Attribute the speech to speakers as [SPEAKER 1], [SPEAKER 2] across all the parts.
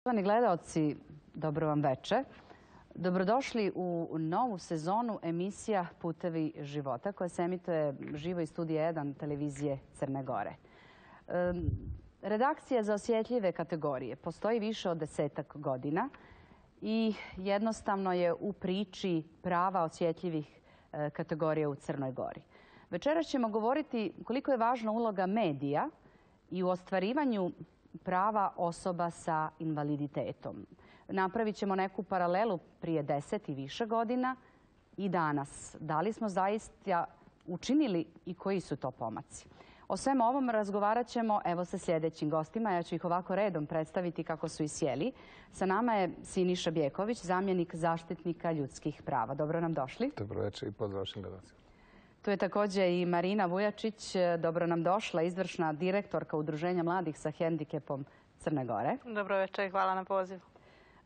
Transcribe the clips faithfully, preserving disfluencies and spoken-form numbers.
[SPEAKER 1] Poštovani gledaoci, dobro vam veče. Dobrodošli u novu sezonu emisija Putevi života koja se emituje živo iz studija jedan televizije Crne Gore. Redakcija za osjetljive kategorije postoji više od desetak godina i jednostavno je u priči prava osjetljivih kategorija u Crnoj Gori. Večeras ćemo govoriti koliko je važna uloga medija i u ostvarivanju prava osoba sa invaliditetom. Napravit ćemo neku paralelu prije deset i više godina i danas. Da li smo zaista učinili i koji su to pomaci? O svemu ovom razgovarat ćemo evo sa sljedećim gostima. Ja ću ih ovako redom predstaviti kako su i sjeli. Sa nama je Siniša Bjeković, zamjenik zaštitnika ljudskih prava. Dobro nam došli.
[SPEAKER 2] Dobro večer i pozdrav vašim gledalcima.
[SPEAKER 1] Tu je također i Marina Vujačić, dobro nam došla, izvršna direktorka Udruženja mladih sa hendikepom Crne Gore.
[SPEAKER 3] Dobro večer i hvala na pozivu.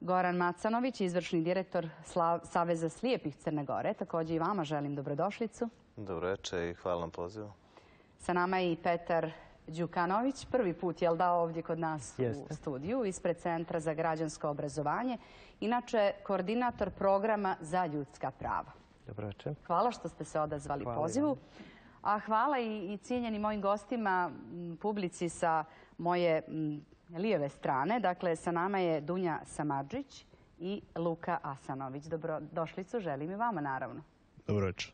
[SPEAKER 1] Goran Macanović, izvršni direktor Saveza slijepih Crne Gore. Također i vama želim dobrodošlicu.
[SPEAKER 4] Dobro večer i hvala na pozivu.
[SPEAKER 1] Sa nama je i Petar Đukanović, prvi put je dao ovdje kod nas u studiju, ispred Centra za građansko obrazovanje, inače koordinator programa za ljudska prava.
[SPEAKER 5] Dobro večer.
[SPEAKER 1] Hvala što ste se odazvali pozivu. A hvala i cijenjenim mojim gostima, publici sa moje lijeve strane. Dakle, sa nama je Dunja Samardžić i Luka Asanović. Dobrodošlicu želim i vama, naravno.
[SPEAKER 2] Dobro večer.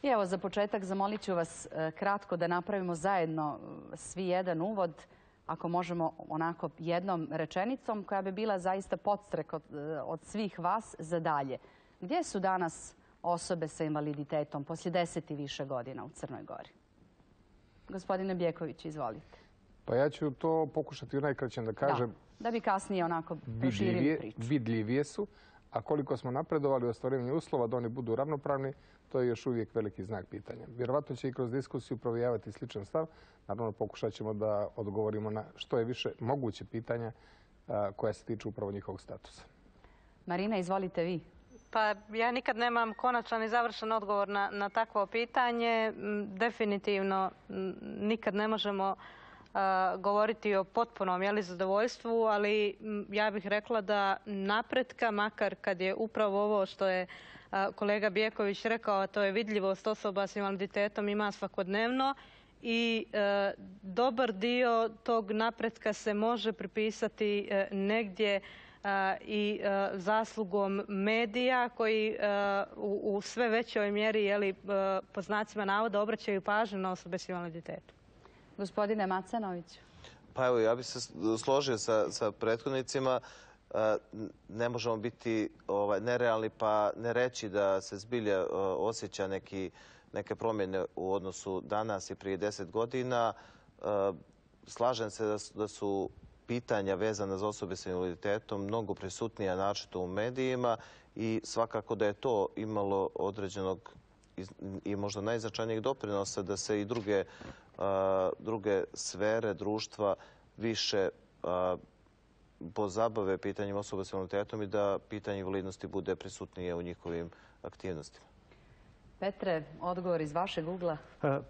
[SPEAKER 1] I evo, za početak zamolit ću vas kratko da napravimo zajedno svi jedan uvod, ako možemo onako jednom rečenicom, koja bi bila zaista podstrek od, od svih vas za dalje. Gdje su danas osobe sa invaliditetom poslije deset i više godina u Crnoj Gori? Gospodine Bjeković, izvolite.
[SPEAKER 2] Pa ja ću to pokušati u najkraćem da kažem.
[SPEAKER 1] Da, da bi kasnije onako proširili priču.
[SPEAKER 2] Vidljivije su, a koliko smo napredovali u ostvarivanju uslova da oni budu ravnopravni, to je još uvijek veliki znak pitanja. Vjerovatno će i kroz diskusiju provijavati sličan stav. Naravno, pokušat ćemo da odgovorimo na što je više moguće pitanja koja se tiču upravo njihovog statusa.
[SPEAKER 1] Marina, izvolite vi.
[SPEAKER 3] Pa ja nikad nemam konačan i završen odgovor na, na takvo pitanje. Definitivno nikad ne možemo uh, govoriti o potpunom jeli, zadovoljstvu, ali ja bih rekla da napretka, makar kad je upravo ovo što je uh, kolega Bjeković rekao, a to je vidljivost osoba s invaliditetom, ima svakodnevno i uh, dobar dio tog napretka se može pripisati uh, negdje i zaslugom medija koji u sve većoj mjeri, jeli, po znacima navoda, obraćaju pažnju na osobe s invaliditetom.
[SPEAKER 1] Gospodine Macanović.
[SPEAKER 4] Pa evo, ja bih se složio sa, sa prethodnicima. Ne možemo biti ovaj, nerealni pa ne reći da se zbilja osjeća neki, neke promjene u odnosu danas i prije deset godina. Slažem se da su, da su pitanja vezana za osobe s invaliditetom mnogo prisutnija naročito u medijima i svakako da je to imalo određenog i možda najznačajnijeg doprinosa da se i druge, a, druge sfere društva više a, pozabave pitanjem osoba s invaliditetom i da pitanje invalidnosti bude prisutnije u njihovim aktivnostima.
[SPEAKER 1] Petre, odgovor iz vašeg ugla.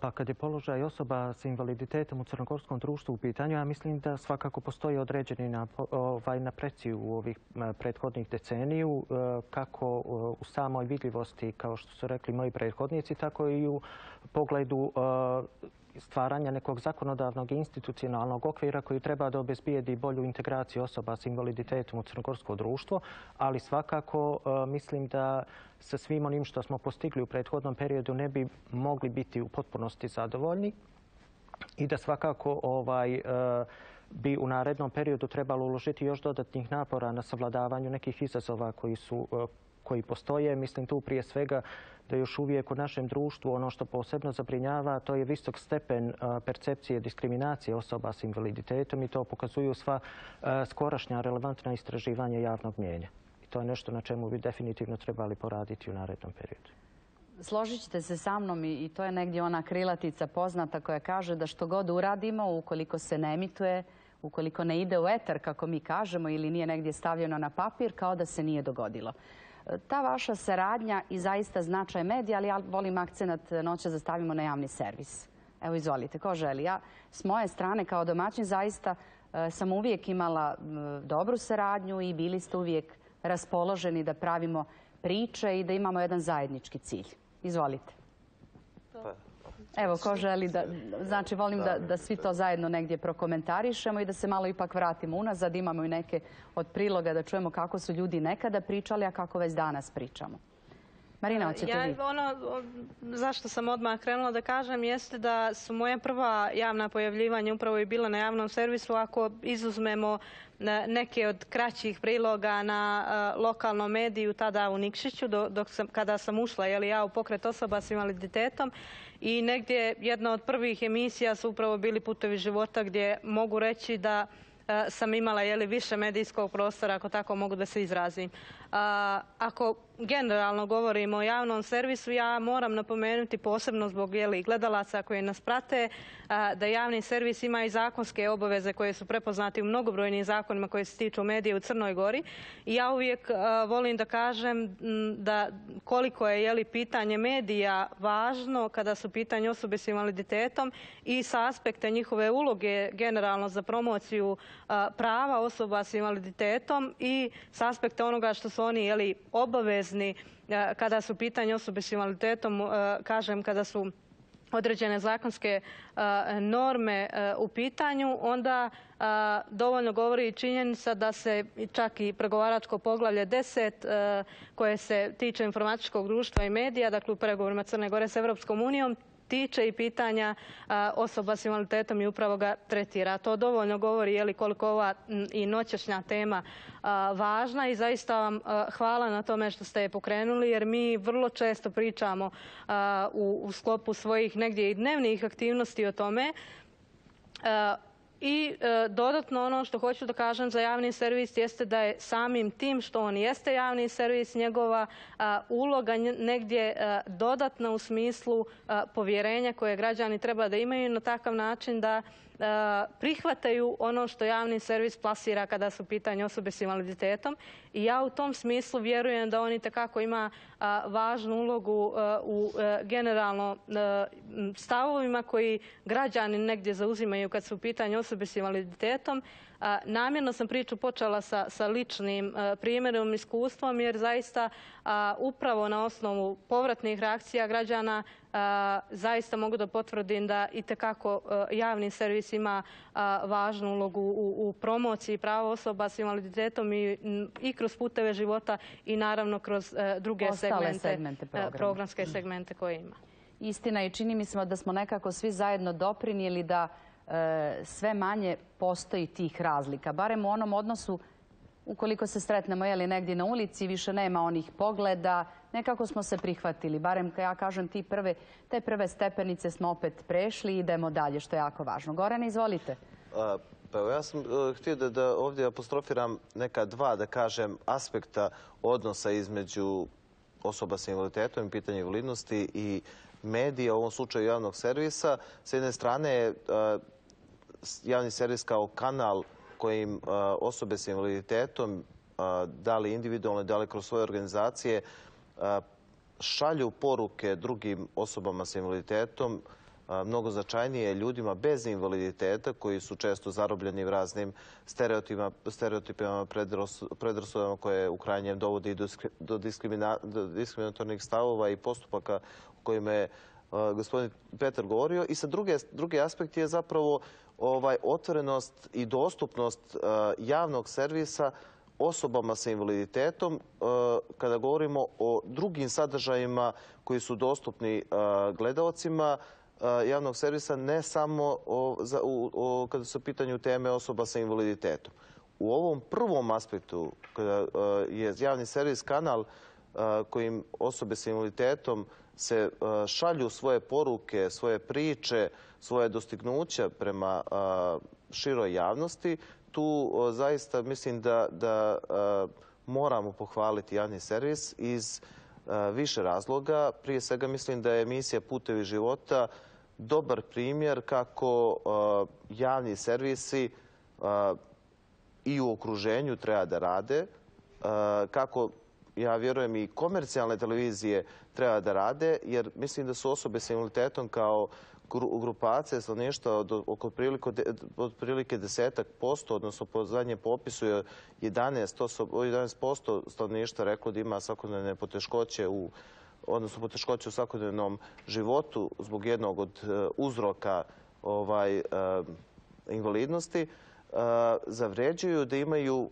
[SPEAKER 5] Pa kad je položaj osoba s invaliditetom u crnogorskom društvu u pitanju, ja mislim da svakako postoji određeni ovaj, napreci u ovih prethodnih deceniju, kako u samoj vidljivosti, kao što su rekli moji prethodnici, tako i u pogledu stvaranja nekog zakonodavnog i institucionalnog okvira koji treba da obezbijedi bolju integraciju osoba s invaliditetom u crnogorsko društvo, ali svakako mislim da sa svim onim što smo postigli u prethodnom periodu ne bi mogli biti u potpunosti zadovoljni i da svakako ovaj, bi u narednom periodu trebalo uložiti još dodatnih napora na savladavanju nekih izazova koji su koji postoje. Mislim tu prije svega da još uvijek u našem društvu ono što posebno zabrinjava to je visok stepen percepcije diskriminacije osoba s invaliditetom i to pokazuju sva skorašnja relevantna istraživanja javnog mnijenja. I to je nešto na čemu bi definitivno trebali poraditi u narednom periodu.
[SPEAKER 1] Složit ćete se sa mnom i to je negdje ona krilatica poznata koja kaže da što god uradimo, ukoliko se ne emituje, ukoliko ne ide u etar, kako mi kažemo, ili nije negdje stavljeno na papir, kao da se nije dogodilo. Ta vaša saradnja i zaista značaj medija, ali ja volim akcenat noća da stavimo na javni servis. Evo, izvolite, ko želi? Ja s moje strane kao domaćin zaista sam uvijek imala dobru saradnju i bili ste uvijek raspoloženi da pravimo priče i da imamo jedan zajednički cilj. Izvolite. Evo, ko želi da... Znači, volim da, da svi to zajedno negdje prokomentarišemo i da se malo ipak vratimo unazad. Imamo i neke od priloga da čujemo kako su ljudi nekada pričali, a kako već danas pričamo. Marina, hoćete
[SPEAKER 3] ja,
[SPEAKER 1] vi?
[SPEAKER 3] Ono zašto sam odmah krenula da kažem jeste da su moja prva javna pojavljivanja upravo i bila na javnom servisu. Ako izuzmemo neke od kraćih priloga na uh, lokalnom mediju, tada u Nikšiću, do, dok sam, kada sam ušla jeli, ja u pokret osoba s invaliditetom. I negdje jedna od prvih emisija su upravo bili Putevi života, gdje mogu reći da uh, sam imala jeli, više medijskog prostora, ako tako mogu da se izrazim. Uh, ako generalno govorimo o javnom servisu, ja moram napomenuti posebno zbog jeli, gledalaca koji nas prate, da javni servis ima i zakonske obaveze koje su prepoznati u mnogobrojnim zakonima koji se tiču medija u Crnoj Gori. I ja uvijek volim da kažem da koliko je jeli, pitanje medija važno kada su pitanje osobe s invaliditetom i sa aspekta njihove uloge generalno za promociju prava osoba s invaliditetom i sa aspekta onoga što su oni jeli, obavezni kada su pitanje osobe s invaliditetom, kažem, kada su određene zakonske norme u pitanju, onda dovoljno govori i činjenica da se čak i pregovaračko poglavlje deset koje se tiče informatičkog društva i medija, dakle u pregovorima Crne Gore s Evropskom unijom, tiče i pitanja a, osoba s invaliditetom i upravo ga tretira. To dovoljno govori je li koliko ova m, i noćašnja tema a, važna i zaista vam a, hvala na tome što ste je pokrenuli jer mi vrlo često pričamo a, u, u sklopu svojih negdje i dnevnih aktivnosti o tome. A, I e, dodatno ono što hoću da kažem za javni servis jeste da je samim tim što on jeste javni servis, njegova a, uloga negdje a, dodatna u smislu a, povjerenja koje građani treba da imaju na takav način da a, prihvataju ono što javni servis plasira kada su pitanje osobe s invaliditetom. I ja u tom smislu vjerujem da on itekako ima a, važnu ulogu a, u a, generalno a, stavovima koji građani negdje zauzimaju kad su pitanje osobe s invaliditetom. A, namjerno sam priču počela sa, sa ličnim a, primjerom, iskustvom, jer zaista a, upravo na osnovu povratnih reakcija građana a, zaista mogu da potvrdim da itekako a, javni servis ima a, važnu ulogu u, u promociji prava osoba s invaliditetom i, i kroz puteve života i naravno kroz a, druge segmente, segmente programske segmente koje ima.
[SPEAKER 1] Istina i čini mi se da smo nekako svi zajedno doprinijeli da e, sve manje postoji tih razlika. Barem u onom odnosu, ukoliko se sretnemo jeli, negdje na ulici, više nema onih pogleda, nekako smo se prihvatili. Barem, ja kažem, ti prve, te prve stepenice smo opet prešli i idemo dalje, što je jako važno. Gorane, izvolite.
[SPEAKER 4] A, pa evo, ja sam uh, htio da, da ovdje apostrofiram neka dva, da kažem, aspekta odnosa između osoba sa invaliditetom i pitanja invalidnosti i medija, u ovom slučaju javnog servisa. S jedne strane je uh, javni servis kao kanal kojim uh, osobe s invaliditetom, uh, da li individualno, da li kroz svoje organizacije, uh, šalju poruke drugim osobama s invaliditetom, uh, mnogo značajnije ljudima bez invaliditeta koji su često zarobljeni raznim stereotipima, stereotipima predrasudama koje u krajnjem dovodi do, do, diskrimina, do diskriminatornih stavova i postupaka o kojima je uh, gospodin Petar govorio. I sa druge, drugi aspekt je zapravo ovaj, otvorenost i dostupnost uh, javnog servisa osobama sa invaliditetom uh, kada govorimo o drugim sadržajima koji su dostupni uh, gledaocima uh, javnog servisa, ne samo o, za, u, o, kada su u pitanju teme osoba sa invaliditetom. U ovom prvom aspektu, kada uh, je javni servis kanal uh, kojim osobe sa invaliditetom se uh, šalju svoje poruke, svoje priče, svoje dostignuća prema uh, široj javnosti, tu uh, zaista mislim da, da uh, moramo pohvaliti javni servis iz uh, više razloga. Prije svega mislim da je emisija Putevi života dobar primjer kako uh, javni servisi uh, i u okruženju treba da rade, uh, kako ja vjerujem i komercijalne televizije treba da rade, jer mislim da su osobe sa invaliditetom kao grupacija stanovništva od oko otprilike desetak posto, odnosno po zadnjem popisu je jedanaest posto stanovništva reklo da ima svakodnevne poteškoće u odnosno poteškoće u svakodnevnom životu zbog jednog od uzroka ovaj, invalidnosti, zavređuju da imaju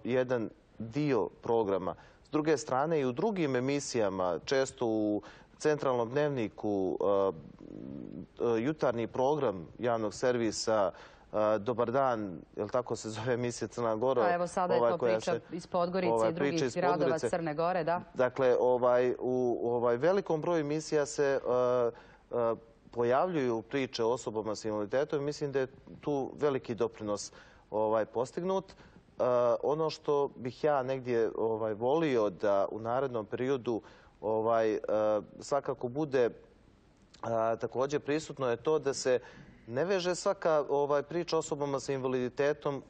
[SPEAKER 4] jedan dio programa. S druge strane i u drugim emisijama, često u centralnom dnevniku, jutarnji program javnog servisa, Dobar dan, je li tako se zove emisija Crna Gora?
[SPEAKER 1] Pa evo sada je to priča iz Podgorice i drugih gradova Crne Gore, da.
[SPEAKER 4] Dakle, u velikom broju emisija se pojavljuju priče o osobama s invaliditetom i mislim da je tu veliki doprinos postignut. Ono što bih ja negdje volio da u narednom periodu svakako bude također prisutno je to da se ne veže svaka priča o osobama sa invaliditetom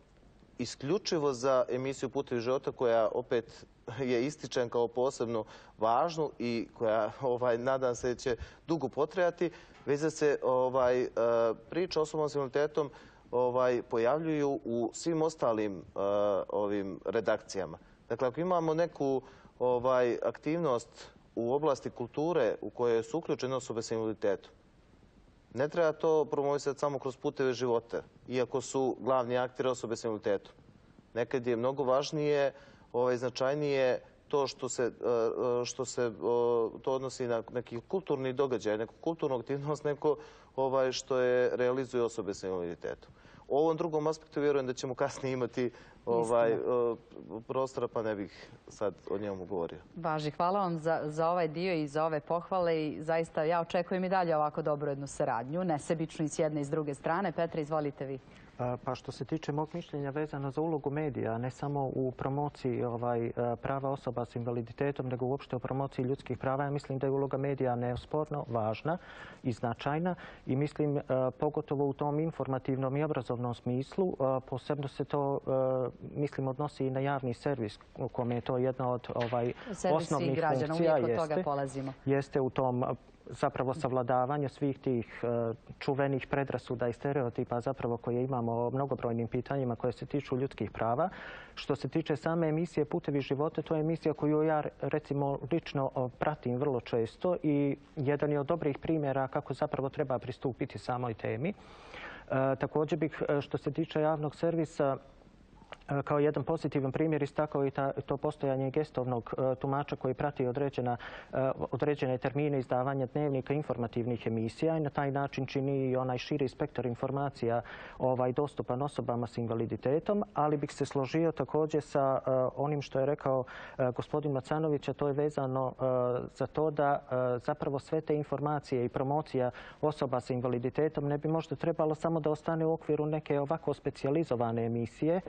[SPEAKER 4] isključivo za emisiju Putevi života, koja opet je ističen kao posebno važnu i koja, nadam se, će dugo potrajati, već da se priča o osobama sa invaliditetom pojavljuju u svim ostalim ovim redakcijama. Dakle, ako imamo neku aktivnost u oblasti kulture u kojoj su uključene osobe sa invaliditetom, ne treba to promovisati samo kroz Puteve života, iako su glavni akteri osobe s invaliditetom. Nekad je mnogo važnije, značajnije to što se to odnosi na neki kulturni događaj, neku kulturnu aktivnost, neko što je realizuju osobe s invaliditetom. U ovom drugom aspektu vjerujem da ćemo kasnije imati prostora, pa ne bih sad o njemu govorio.
[SPEAKER 1] Važi, hvala vam za ovaj dio i za ove pohvale i zaista ja očekujem i dalje ovako dobru jednu saradnju, nesebičnu i s jedne i s druge strane. Petre, izvolite vi.
[SPEAKER 5] Pa što se tiče mog mišljenja vezano za ulogu medija, ne samo u promociji prava osoba s invaliditetom, nego uopšte u promociji ljudskih prava, ja mislim da je uloga medija neosporno važna i značajna i mislim pogotovo u tom informativnom i obrazovnom smislu. Posebno se to, mislim, odnosi i na javni servis, u kome je to jedna od osnovnih funkcija. Jeste u tom zapravo savladavanje svih tih čuvenih predrasuda i stereotipa zapravo koje imamo o mnogobrojnim pitanjima koje se tiču ljudskih prava. Što se tiče same emisije Putevi života, to je emisija koju ja recimo lično pratim vrlo često i jedan je od dobrih primjera kako zapravo treba pristupiti samoj temi. Također bih što se tiče javnog servisa kao jedan pozitivan primjer istakao i to postojanje gestovnog tumača koji prati određene termine izdavanja dnevnika informativnih emisija i na taj način čini i onaj širi spektar informacija dostupan osobama s invaliditetom, ali bih se složio također sa onim što je rekao gospodin Macanović, a to je vezano za to da zapravo sve te informacije i promocija osoba s invaliditetom ne bi možda trebalo samo da ostane u okviru neke ovako specijalizovane emisije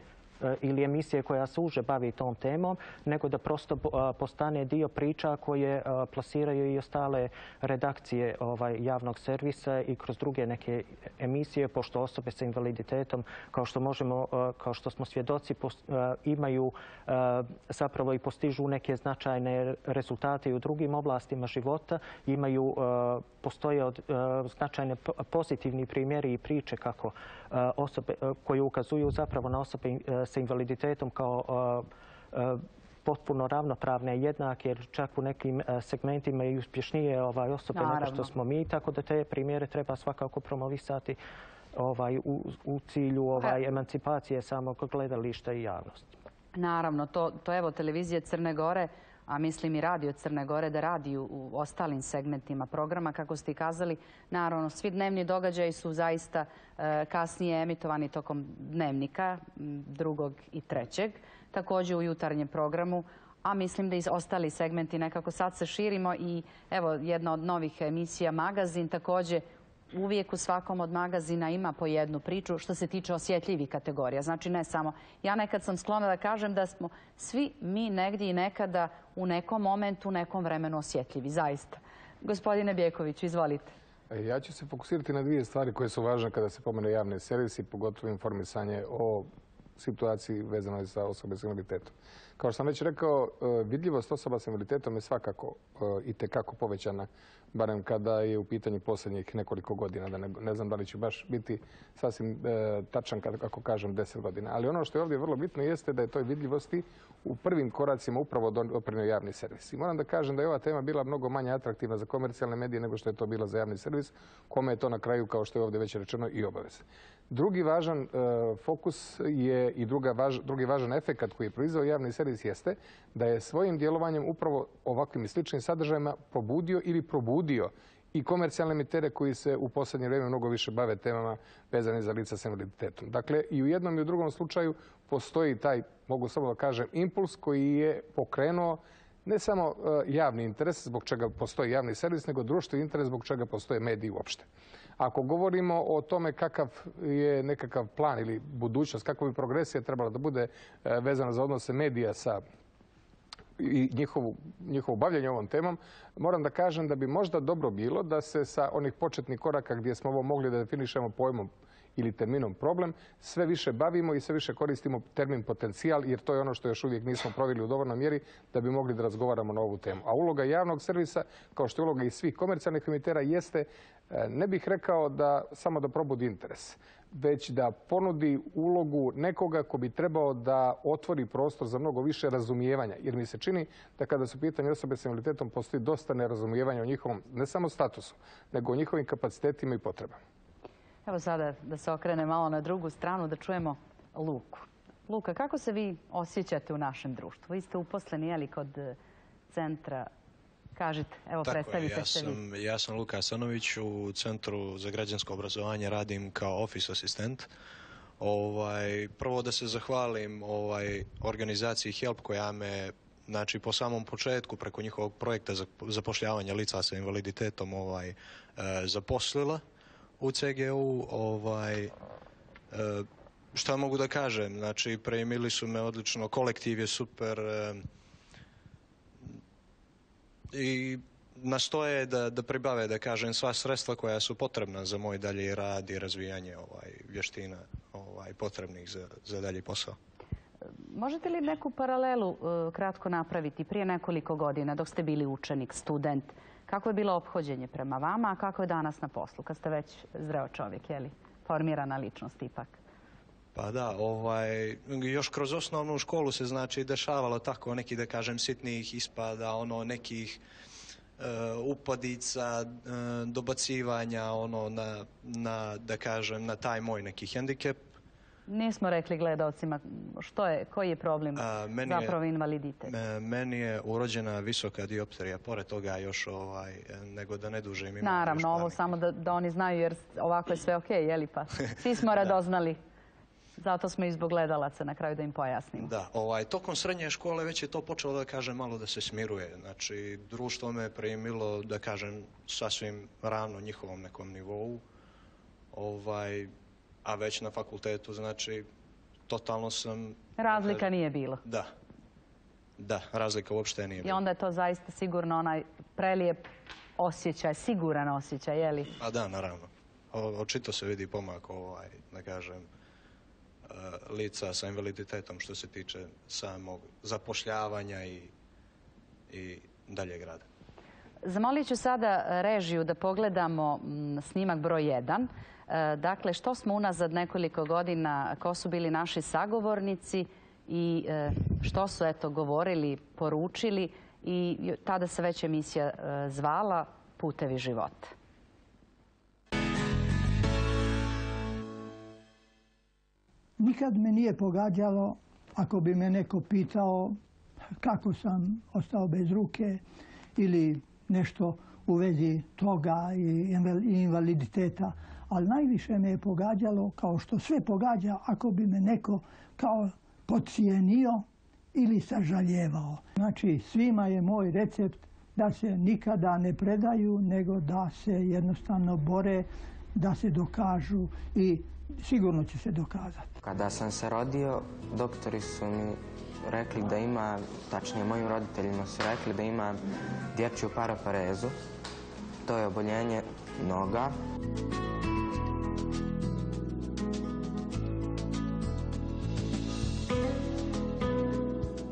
[SPEAKER 5] ili emisije koja se uže bavi tom temom, nego da prosto postane dio priča koje plasiraju i ostale redakcije javnog servisa i kroz druge neke emisije, pošto osobe sa invaliditetom, kao što možemo, kao što smo svjedoci, imaju zapravo i postižu neke značajne rezultate i u drugim oblastima života, imaju, postoje značajne pozitivni primjeri i priče kako osobe koje ukazuju zapravo na osobe sa invaliditetom kao potpuno ravnopravne i jednake, jer čak u nekim segmentima i uspješnije osobe nego što smo mi, tako da te primjere treba svakako promovisati u cilju emancipacije samog gledališta i javnosti.
[SPEAKER 1] Naravno, to evo televizija Crne Gore, a mislim i radio Crne Gore, da radi u ostalim segmentima programa. Kako ste i kazali, naravno, svi dnevni događaji su zaista kasnije emitovani tokom dnevnika, drugog i trećeg, također u jutarnjem programu, a mislim da i ostali segmenti nekako sad se širimo i evo jedna od novih emisija Magazin, također uvijek u svakom od magazina ima po jednu priču što se tiče osjetljivih kategorija. Znači ne samo, ja nekad sam sklona da kažem da smo svi mi negdje i nekada u nekom momentu, u nekom vremenu osjetljivi, zaista. Gospodine Bjeković, izvolite.
[SPEAKER 2] Ja ću se fokusirati na dvije stvari koje su važne kada se pomene javne servisi, pogotovo informisanje o situaciji vezanoj za osobe s invaliditetom. Kao što sam već rekao, vidljivost osoba s invaliditetom je svakako i tekako povećana, barem kada je u pitanju posljednjih nekoliko godina. Da ne, ne znam da li će baš biti sasvim e, tačan kako kažem deset godina. Ali ono što je ovdje vrlo bitno jeste da je toj vidljivosti u prvim koracima upravo doprinio javni servis. I moram da kažem da je ova tema bila mnogo manje atraktivna za komercijalne medije nego što je to bila za javni servis, kome je to na kraju, kao što je ovdje već rečeno, i obaveza. Drugi važan e, fokus je i druga važ, drugi važan efekat koji je proizveo javni servis jeste da je svojim djelovanjem upravo ovakvim i sličnim sadržajima pobudio ili probudio i komercijalne emitere koji se u posljednje vrijeme mnogo više bave temama vezane za lica s invaliditetom. Dakle, i u jednom i u drugom slučaju postoji taj, mogu samo da kažem, impuls koji je pokrenuo ne samo javni interes zbog čega postoji javni servis, nego društveni interes zbog čega postoje mediji uopšte. Ako govorimo o tome kakav je nekakav plan ili budućnost, kakva bi progresija trebala da bude vezana za odnose medija sa i njihovu, njihovo bavljanje ovom temom, moram da kažem da bi možda dobro bilo da se sa onih početnih koraka gdje smo ovo mogli da definišemo pojmom ili terminom problem, sve više bavimo i sve više koristimo termin potencijal, jer to je ono što još uvijek nismo proveli u dovoljnoj mjeri da bi mogli da razgovaramo na ovu temu. A uloga javnog servisa, kao što je uloga i svih komercijalnih emitera, jeste, ne bih rekao da samo da probudi interes, već da ponudi ulogu nekoga ko bi trebao da otvori prostor za mnogo više razumijevanja. Jer mi se čini da kada su pitanje osobe s invaliditetom postoji dosta nerazumijevanja o njihovom, ne samo statusu, nego o njihovim kapacitetima i potrebama.
[SPEAKER 1] Evo sada da se okrene malo na drugu stranu, da čujemo Luku. Luka, kako se vi osjećate u našem društvu? Vi ste uposleni, jeli, kod centra. Kažite, evo,
[SPEAKER 6] Tako
[SPEAKER 1] predstavite
[SPEAKER 6] je, ja
[SPEAKER 1] se
[SPEAKER 6] sam,
[SPEAKER 1] vi.
[SPEAKER 6] Ja sam Luka Asanović, u Centru za građansko obrazovanje radim kao office asistent. Ovaj, prvo da se zahvalim ovaj, organizaciji HELP koja me, znači, po samom početku preko njihovog projekta za zapošljavanja lica sa invaliditetom ovaj, e, zaposlila u C G U. Ovaj, e, šta mogu da kažem? Znači, primili su me odlično, kolektiv je super, e, i nastoje da, da pribave, da kažem, sva sredstva koja su potrebna za moj dalji rad i razvijanje ovaj, vještina ovaj, potrebnih za, za dalji posao.
[SPEAKER 1] Možete li neku paralelu uh, kratko napraviti prije nekoliko godina dok ste bili učenik, student? Kako je bilo ophođenje prema vama, a kako je danas na poslu, kad ste već zreo čovjek, je li? Formirana ličnost ipak.
[SPEAKER 6] Pa da, ovaj, još kroz osnovnu školu se, znači, dešavalo tako neki, da kažem, sitnih ispada, ono, nekih uh, upadica, uh, dobacivanja, ono, na, na, da kažem, na taj moj neki hendikep.
[SPEAKER 1] Nismo rekli gledalcima što je, koji je problem,
[SPEAKER 6] A, meni
[SPEAKER 1] zapravo
[SPEAKER 6] je,
[SPEAKER 1] invaliditet.
[SPEAKER 6] Meni je urođena visoka dioptrija, pored toga još, ovaj, nego da ne dužim imam.
[SPEAKER 1] Naravno, ovo samo da, da oni znaju, jer ovako je sve okej, jeli pa? Svi smo radoznali. Zato smo i zbog gledalaca na kraju da im pojasnimo.
[SPEAKER 6] Da, ovaj, tokom srednje škole već je to počelo, da kažem, malo da se smiruje. Znači, društvo me primilo, da kažem, sasvim ravno njihovom nekom nivou. Ovaj, a već na fakultetu, znači, totalno sam...
[SPEAKER 1] Razlika
[SPEAKER 6] kažem,
[SPEAKER 1] nije bilo.
[SPEAKER 6] Da. Da, razlika uopšte nije bilo.
[SPEAKER 1] I onda je to zaista sigurno onaj prelijep osjećaj, siguran osjećaj, je li?
[SPEAKER 6] A da, naravno. O, očito se vidi pomak, ovaj, da kažem, lica sa invaliditetom što se tiče samog zapošljavanja i, i daljeg rada.
[SPEAKER 1] Zamolit ću sada režiju da pogledamo snimak broj jedan. Dakle, što smo unazad nekoliko godina, ko su bili naši sagovornici i što su, eto, govorili, poručili, i tada se već emisija zvala Putevi života.
[SPEAKER 7] Nikad me nije pogađalo ako bi me neko pitao kako sam ostao bez ruke ili nešto u vezi toga i invaliditeta. Ali najviše me je pogađalo, kao što sve pogađa, ako bi me neko kao podcijenio ili sažaljevao. Znači, svima je moj recept da se nikada ne predaju, nego da se jednostavno bore, da se dokažu i sigurno će se dokazati.
[SPEAKER 8] Kada sam se rodio, doktori su mi rekli da ima, tačnije mojim roditeljima su rekli da ima dječju paraparezu. To je oboljenje noga.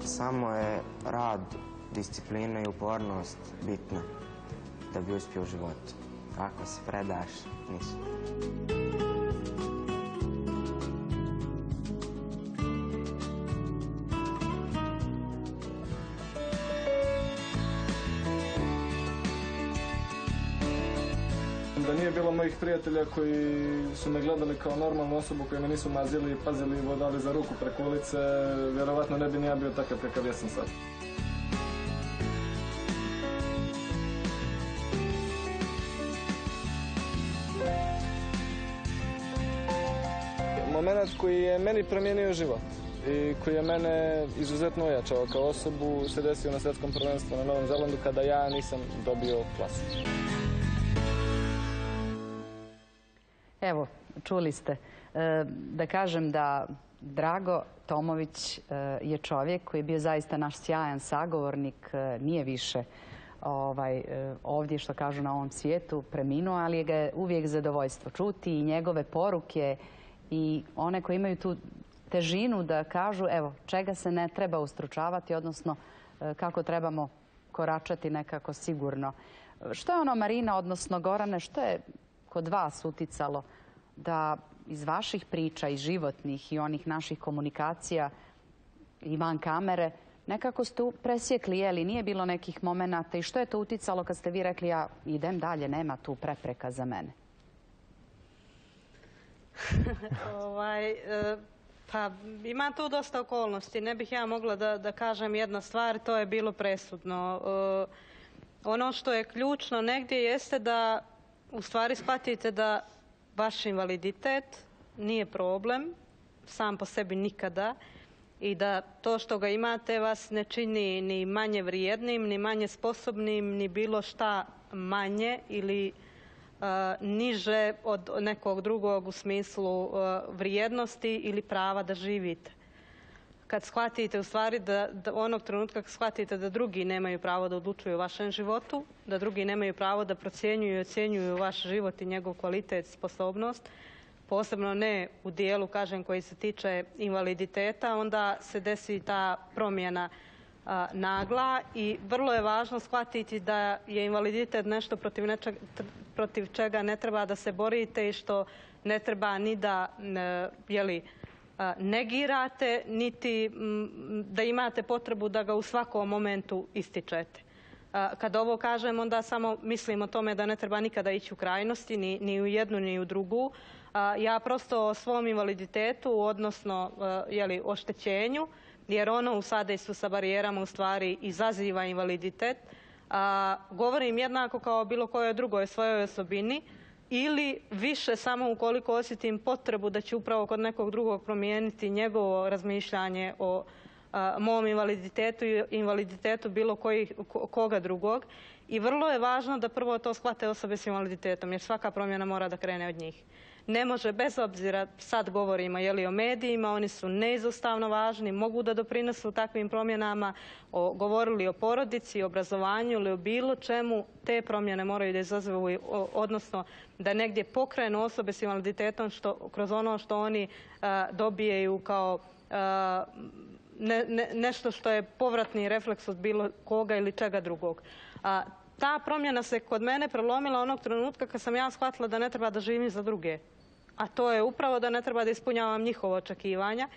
[SPEAKER 8] Samo je rad, disciplina i upornost bitna da bi uspio u životu. Ako se predaš, ništa.
[SPEAKER 9] Da nije bilo mojih prijatelja koji su me gledali kao normalnu osobu, koji me nisu mazili, pazili i vodali za ruku preko ulice, vjerovatno ne bi ni ja bio takav kakav jesam sad. Moment koji je meni promijenio život i koji je mene izuzetno ojačao kao osobu se desio na svjetskom prvenstvu na Novom Zelandu kada ja nisam dobio klasu.
[SPEAKER 1] Evo, čuli ste. Da kažem da Drago Tomović je čovjek koji je bio zaista naš sjajan sagovornik, nije više ovdje, što kažu, na ovom svijetu, preminuo, ali ga je uvijek zadovoljstvo čuti i njegove poruke i one koji imaju tu težinu da kažu, evo, čega se ne treba ustručavati, odnosno kako trebamo koračati nekako sigurno. Što je ono, Marina, odnosno Gorane, što je kod vas uticalo da iz vaših priča, iz životnih i onih naših komunikacija i van kamere, nekako ste presjekli, jeli, nije bilo nekih momenata i što je to uticalo kad ste vi rekli ja idem dalje, nema tu prepreka za mene?
[SPEAKER 3] ovaj, pa ima tu dosta okolnosti. Ne bih ja mogla da, da kažem jedna stvar, to je bilo presudno. Ono što je ključno negdje jeste da u stvari shvatite da vaš invaliditet nije problem sam po sebi nikada i da to što ga imate vas ne čini ni manje vrijednim, ni manje sposobnim, ni bilo šta manje ili uh, niže od nekog drugog u smislu uh, vrijednosti ili prava da živite. Kad shvatite u stvari da, da onog trenutka kad shvatite da drugi nemaju pravo da odlučuju o vašem životu, da drugi nemaju pravo da procjenjuju i ocjenjuju vaš život i njegov kvalitet, sposobnost, posebno ne u dijelu, kažem, koji se tiče invaliditeta, onda se desi ta promjena a, nagla i vrlo je važno shvatiti da je invaliditet nešto protiv, nečeg, protiv čega ne treba da se borite i što ne treba ni da ne, jeli, negirate, niti da imate potrebu da ga u svakom momentu ističete. Kad ovo kažem, onda samo mislim o tome da ne treba nikada ići u krajnosti, ni, ni u jednu, ni u drugu. Ja prosto o svom invaliditetu, odnosno jeli, oštećenju, jer ono u sadejstvu sa barijerama u stvari izaziva invaliditet, govorim jednako kao bilo kojoj drugoj svojoj osobini, ili više samo ukoliko osjetim potrebu da će upravo kod nekog drugog promijeniti njegovo razmišljanje o a, mom invaliditetu i invaliditetu bilo koji, koga drugog. I vrlo je važno da prvo to shvate osobe s invaliditetom, jer svaka promjena mora da krene od njih. Ne može, bez obzira, sad govorimo jeli, o medijima, oni su neizostavno važni, mogu da doprinesu takvim promjenama, o, govorili o porodici, obrazovanju ili o bilo čemu, te promjene moraju da izazovu, odnosno da negdje pokrenu osobe s invaliditetom što, kroz ono što oni a, dobijaju kao a, ne, ne, nešto što je povratni refleks od bilo koga ili čega drugog. A, ta promjena se kod mene prelomila onog trenutka kad sam ja shvatila da ne treba da živim za druge. A to je upravo da ne treba da ispunjavam njihova očekivanja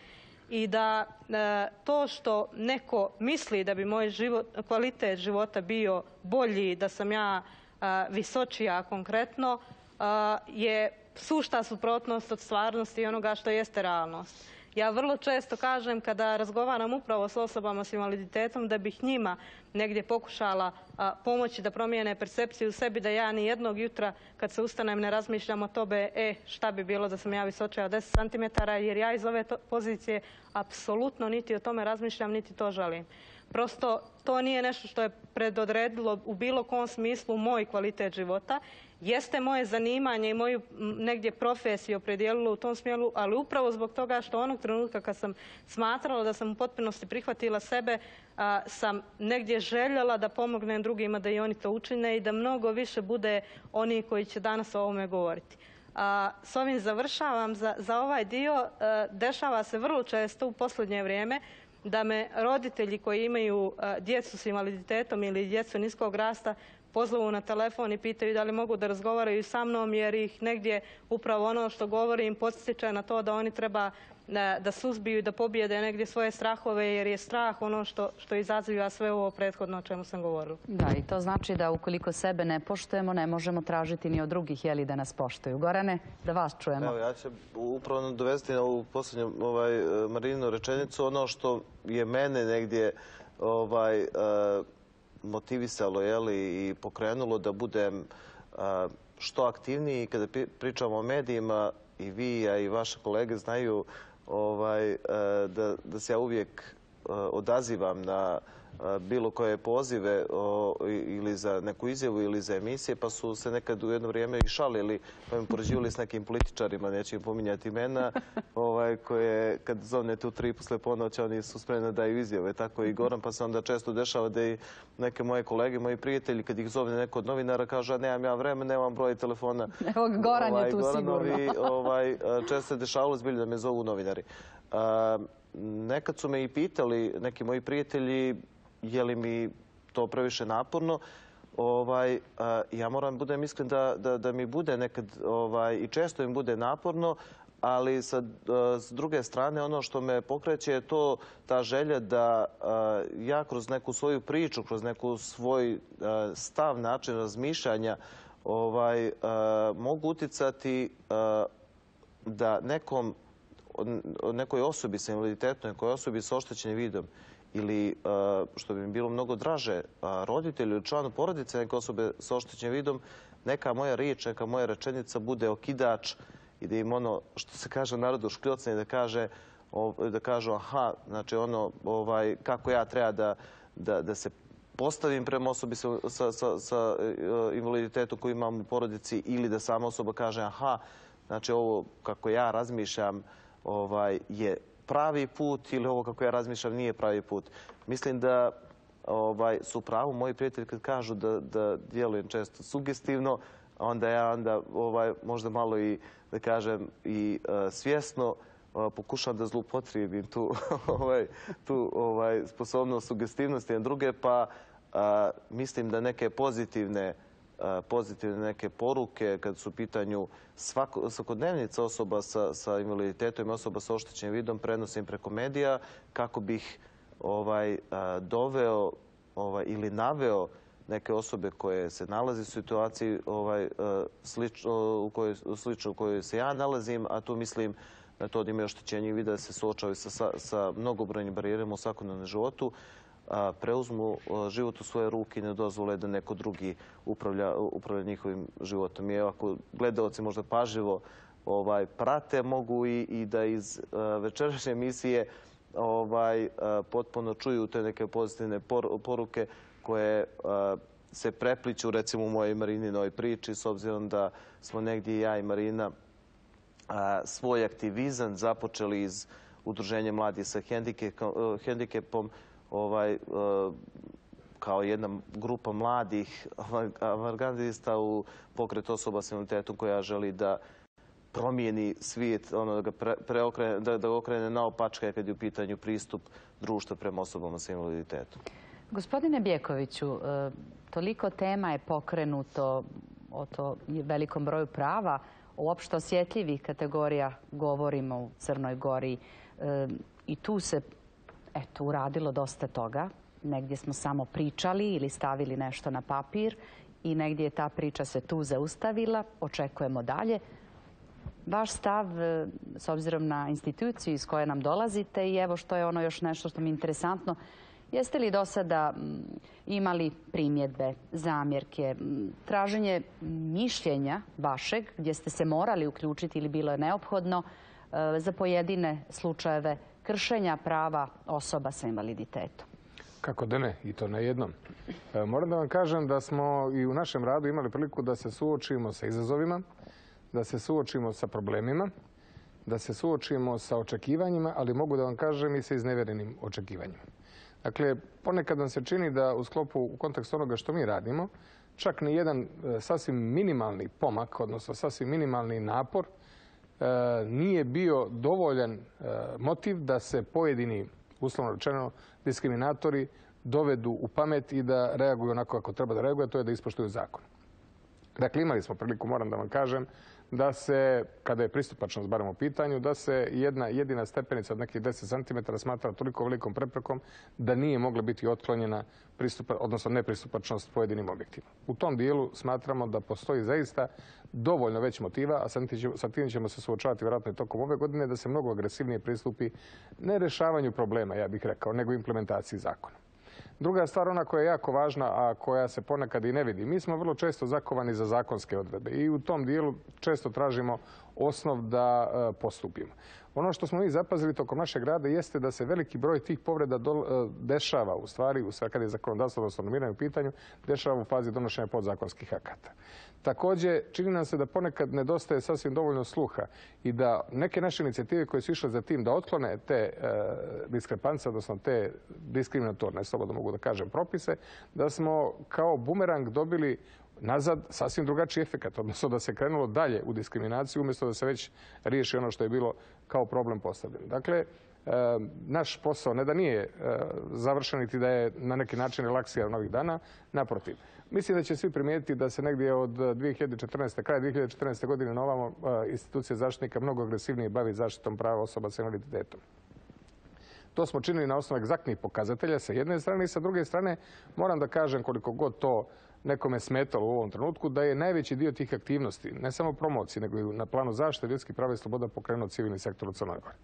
[SPEAKER 3] i da e, to što neko misli da bi moj život, kvalitet života bio bolji, da sam ja e, visočija konkretno, e, je sušta suprotnost od stvarnosti i onoga što jeste realnost. Ja vrlo često kažem kada razgovaram upravo s osobama s invaliditetom da bih njima negdje pokušala a, pomoći da promijene percepciju u sebi, da ja ni jednog jutra kad se ustanem ne razmišljam o tobe, e, šta bi bilo da sam ja visočija od deset centimetara, jer ja iz ove to, pozicije apsolutno niti o tome razmišljam, niti to želim. Prosto to nije nešto što je predodredilo u bilo kom smislu moj kvalitet života. Jeste moje zanimanje i moju negdje profesiju opredijelilo u tom smjeru, ali upravo zbog toga što onog trenutka kad sam smatrala da sam u potpunosti prihvatila sebe, a, sam negdje željela da pomognem drugima da i oni to učine i da mnogo više bude oni koji će danas o ovome govoriti. A, s ovim završavam za, za ovaj dio. A, dešava se vrlo često u posljednje vrijeme da me roditelji koji imaju djecu s invaliditetom ili djecu niskog rasta pozvu na telefon i pitaju da li mogu da razgovaraju sa mnom, jer ih negdje upravo ono što govorim podsjeća na to da oni treba da suzbiju i da pobijede negdje svoje strahove, jer je strah ono što, što izaziva sve ovo prethodno o čemu sam govorila.
[SPEAKER 1] Da, i to znači da ukoliko sebe ne poštujemo, ne možemo tražiti ni od drugih jeli, da nas poštuju. Gorane, da vas čujemo.
[SPEAKER 4] Evo, ja ću upravo dovesti na ovu posljednju ovaj, Marininu rečenicu. Ono što je mene negdje ovaj, motivisalo jeli, i pokrenulo da budem što aktivniji kada pričamo o medijima, i vi, a i vaše kolege znaju ovaj, da, da se ja uvijek odazivam na bilo koje pozive o, ili za neku izjavu ili za emisije, pa su se nekad u jedno vrijeme i šalili, pa mi poređivali s nekim političarima, neću im pominjati imena, ovaj, koje kad zovnete u tri posle ponoći, oni su spremni da daju izjave, tako i Goran, pa se onda često dešava da i neke moje kolege, moji prijatelji, kad ih zovne neko od novinara, kažu, a nemam ja vremena, nemam broj telefona.
[SPEAKER 1] Evo, Goran
[SPEAKER 4] ovaj,
[SPEAKER 1] je tu
[SPEAKER 4] Goranovi,
[SPEAKER 1] sigurno.
[SPEAKER 4] ovaj, često se dešavalo zbilje da me zovu novinari. A, nekad su me i pitali neki moji prijatelji je li mi to previše naporno. Ovaj, a, ja moram budem iskren da, da, da mi bude nekad ovaj, i često im bude naporno, ali sa, a, s druge strane ono što me pokreće je to ta želja da a, ja kroz neku svoju priču, kroz neku svoj a, stav, način razmišljanja ovaj, a, mogu uticati a, da nekom, nekoj osobi sa invaliditetom, nekoj osobi sa oštećenim vidom ili, što bi mi bilo mnogo draže, roditelju ili članu porodice neke osobe sa oštećenim vidom, neka moja riječ, neka moja rečenica bude okidač i da im ono, što se kaže narodu, škljocne, da kaže, da kažu aha, znači ono, ovaj, kako ja treba da, da, da se postavim prema osobi sa, sa, sa, sa invaliditetom koju imam u porodici, ili da sama osoba kaže aha, znači ovo kako ja razmišljam ovaj, je pravi put, ili ovo kako ja razmišljam nije pravi put. Mislim da ovaj, su pravu moji prijatelji kad kažu da, da djelujem često sugestivno, onda ja onda ovaj, možda malo i, da kažem, i uh, svjesno uh, pokušam da zloupotrijebim tu, ovaj, tu ovaj, sposobnost sugestivnosti na druge, pa uh, mislim da neke pozitivne pozitivne neke poruke kad su u pitanju svako, svakodnevnica osoba sa, sa invaliditetom i osoba sa oštećenim vidom prenosim preko medija kako bih ovaj, doveo ovaj, ili naveo neke osobe koje se nalaze u situaciji ovaj, slično, u kojoj, slično u kojoj se ja nalazim, a tu mislim na to da imaju oštećenje vida, da se suočavaju sa, sa, sa mnogobrojnim barijerama u svakodnevnom životu, preuzmu život u svoje ruke i ne dozvole da neko drugi upravlja, upravlja njihovim životom. I ako gledalci možda pažljivo ovaj, prate, mogu i, i da iz uh, večerašnje emisije ovaj, uh, potpuno čuju te neke pozitivne por, poruke koje uh, se prepliču recimo u mojoj Marininoj priči, s obzirom da smo negdje ja i Marina uh, svoj aktivizam započeli iz Udruženja mladih sa hendikepom, ovaj, kao jedna grupa mladih avangardista u pokret osoba s invaliditetom koja želi da promijeni svijet, ono, da ga pre, preokrene, da, da ga okrene naopačke kad je u pitanju pristup društva prema osobama s invaliditetom.
[SPEAKER 1] Gospodine Bjekoviću, toliko tema je pokrenuto o to velikom broju prava, uopšte osjetljivih kategorija govorimo u Crnoj Gori i tu se eto, uradilo dosta toga. Negdje smo samo pričali ili stavili nešto na papir i negdje je ta priča se tu zaustavila. Očekujemo dalje. Vaš stav, s obzirom na instituciju iz koje nam dolazite, i evo što je ono još nešto što mi je interesantno, jeste li do sada imali primjedbe, zamjerke, traženje mišljenja vašeg gdje ste se morali uključiti ili bilo je neophodno za pojedine slučajeve kršenja prava osoba sa invaliditetom?
[SPEAKER 2] Kako da ne, i to na jednom. E, moram da vam kažem da smo i u našem radu imali priliku da se suočimo sa izazovima, da se suočimo sa problemima, da se suočimo sa očekivanjima, ali mogu da vam kažem i sa iznevjerenim očekivanjima. Dakle, ponekad nam se čini da u sklopu, u kontekstu onoga što mi radimo, čak ni jedan e, sasvim minimalni pomak, odnosno sasvim minimalni napor, nije bio dovoljan motiv da se pojedini uslovno rečeno, diskriminatori dovedu u pamet i da reaguju onako kako treba da reaguju, to je da ispoštuju zakon. Dakle, imali smo priliku, moram da vam kažem, da se, kada je pristupačnost barem u pitanju, da se jedna jedina stepenica od nekih deset centimetara smatra toliko velikom preprekom da nije mogla biti otklonjena odnosno nepristupačnost pojedinim objektima. U tom dijelu smatramo da postoji zaista dovoljno već motiva, a sa tim ćemo se suočavati vjerojatno i tokom ove godine, da se mnogo agresivnije pristupi ne rješavanju problema, ja bih rekao, nego implementaciji zakona. Druga stvar, ona koja je jako važna, a koja se ponekad i ne vidi. Mi smo vrlo često zakovani za zakonske odredbe i u tom dijelu često tražimo osnov da postupimo. Ono što smo mi zapazili tokom našeg rada jeste da se veliki broj tih povreda dešava u stvari, kad je zakonodavstvo odnosno normiranje u pitanju, dešava u fazi donošenja podzakonskih akata. Također, čini nam se da ponekad nedostaje sasvim dovoljno sluha i da neke naše inicijative koje su išle za tim da otklone te diskrepance, odnosno te diskriminatorne, slobodno mogu da kažem, propise, da smo kao bumerang dobili nazad sasvim drugačiji efekat, odnosno da se krenulo dalje u diskriminaciju umjesto da se već riješi ono što je bilo kao problem postavljeno. Dakle, naš posao ne da nije završen niti da je na neki način relaksiran ovih dana, naprotiv. Mislim da će svi primijetiti da se negdje od dvije hiljade četrnaeste. kraja dvije hiljade četrnaeste. godine na ovamo institucija zaštitnika mnogo agresivnije bavi zaštitom prava osoba s invaliditetom. To smo činili na osnovu egzaktnih pokazatelja sa jedne strane i sa druge strane moram da kažem koliko god to nekome smetalo u ovom trenutku, da je najveći dio tih aktivnosti, ne samo promocije, nego i na planu zaštite ljudskih prava i sloboda pokrenuo civilni sektor u Crnoj Gori.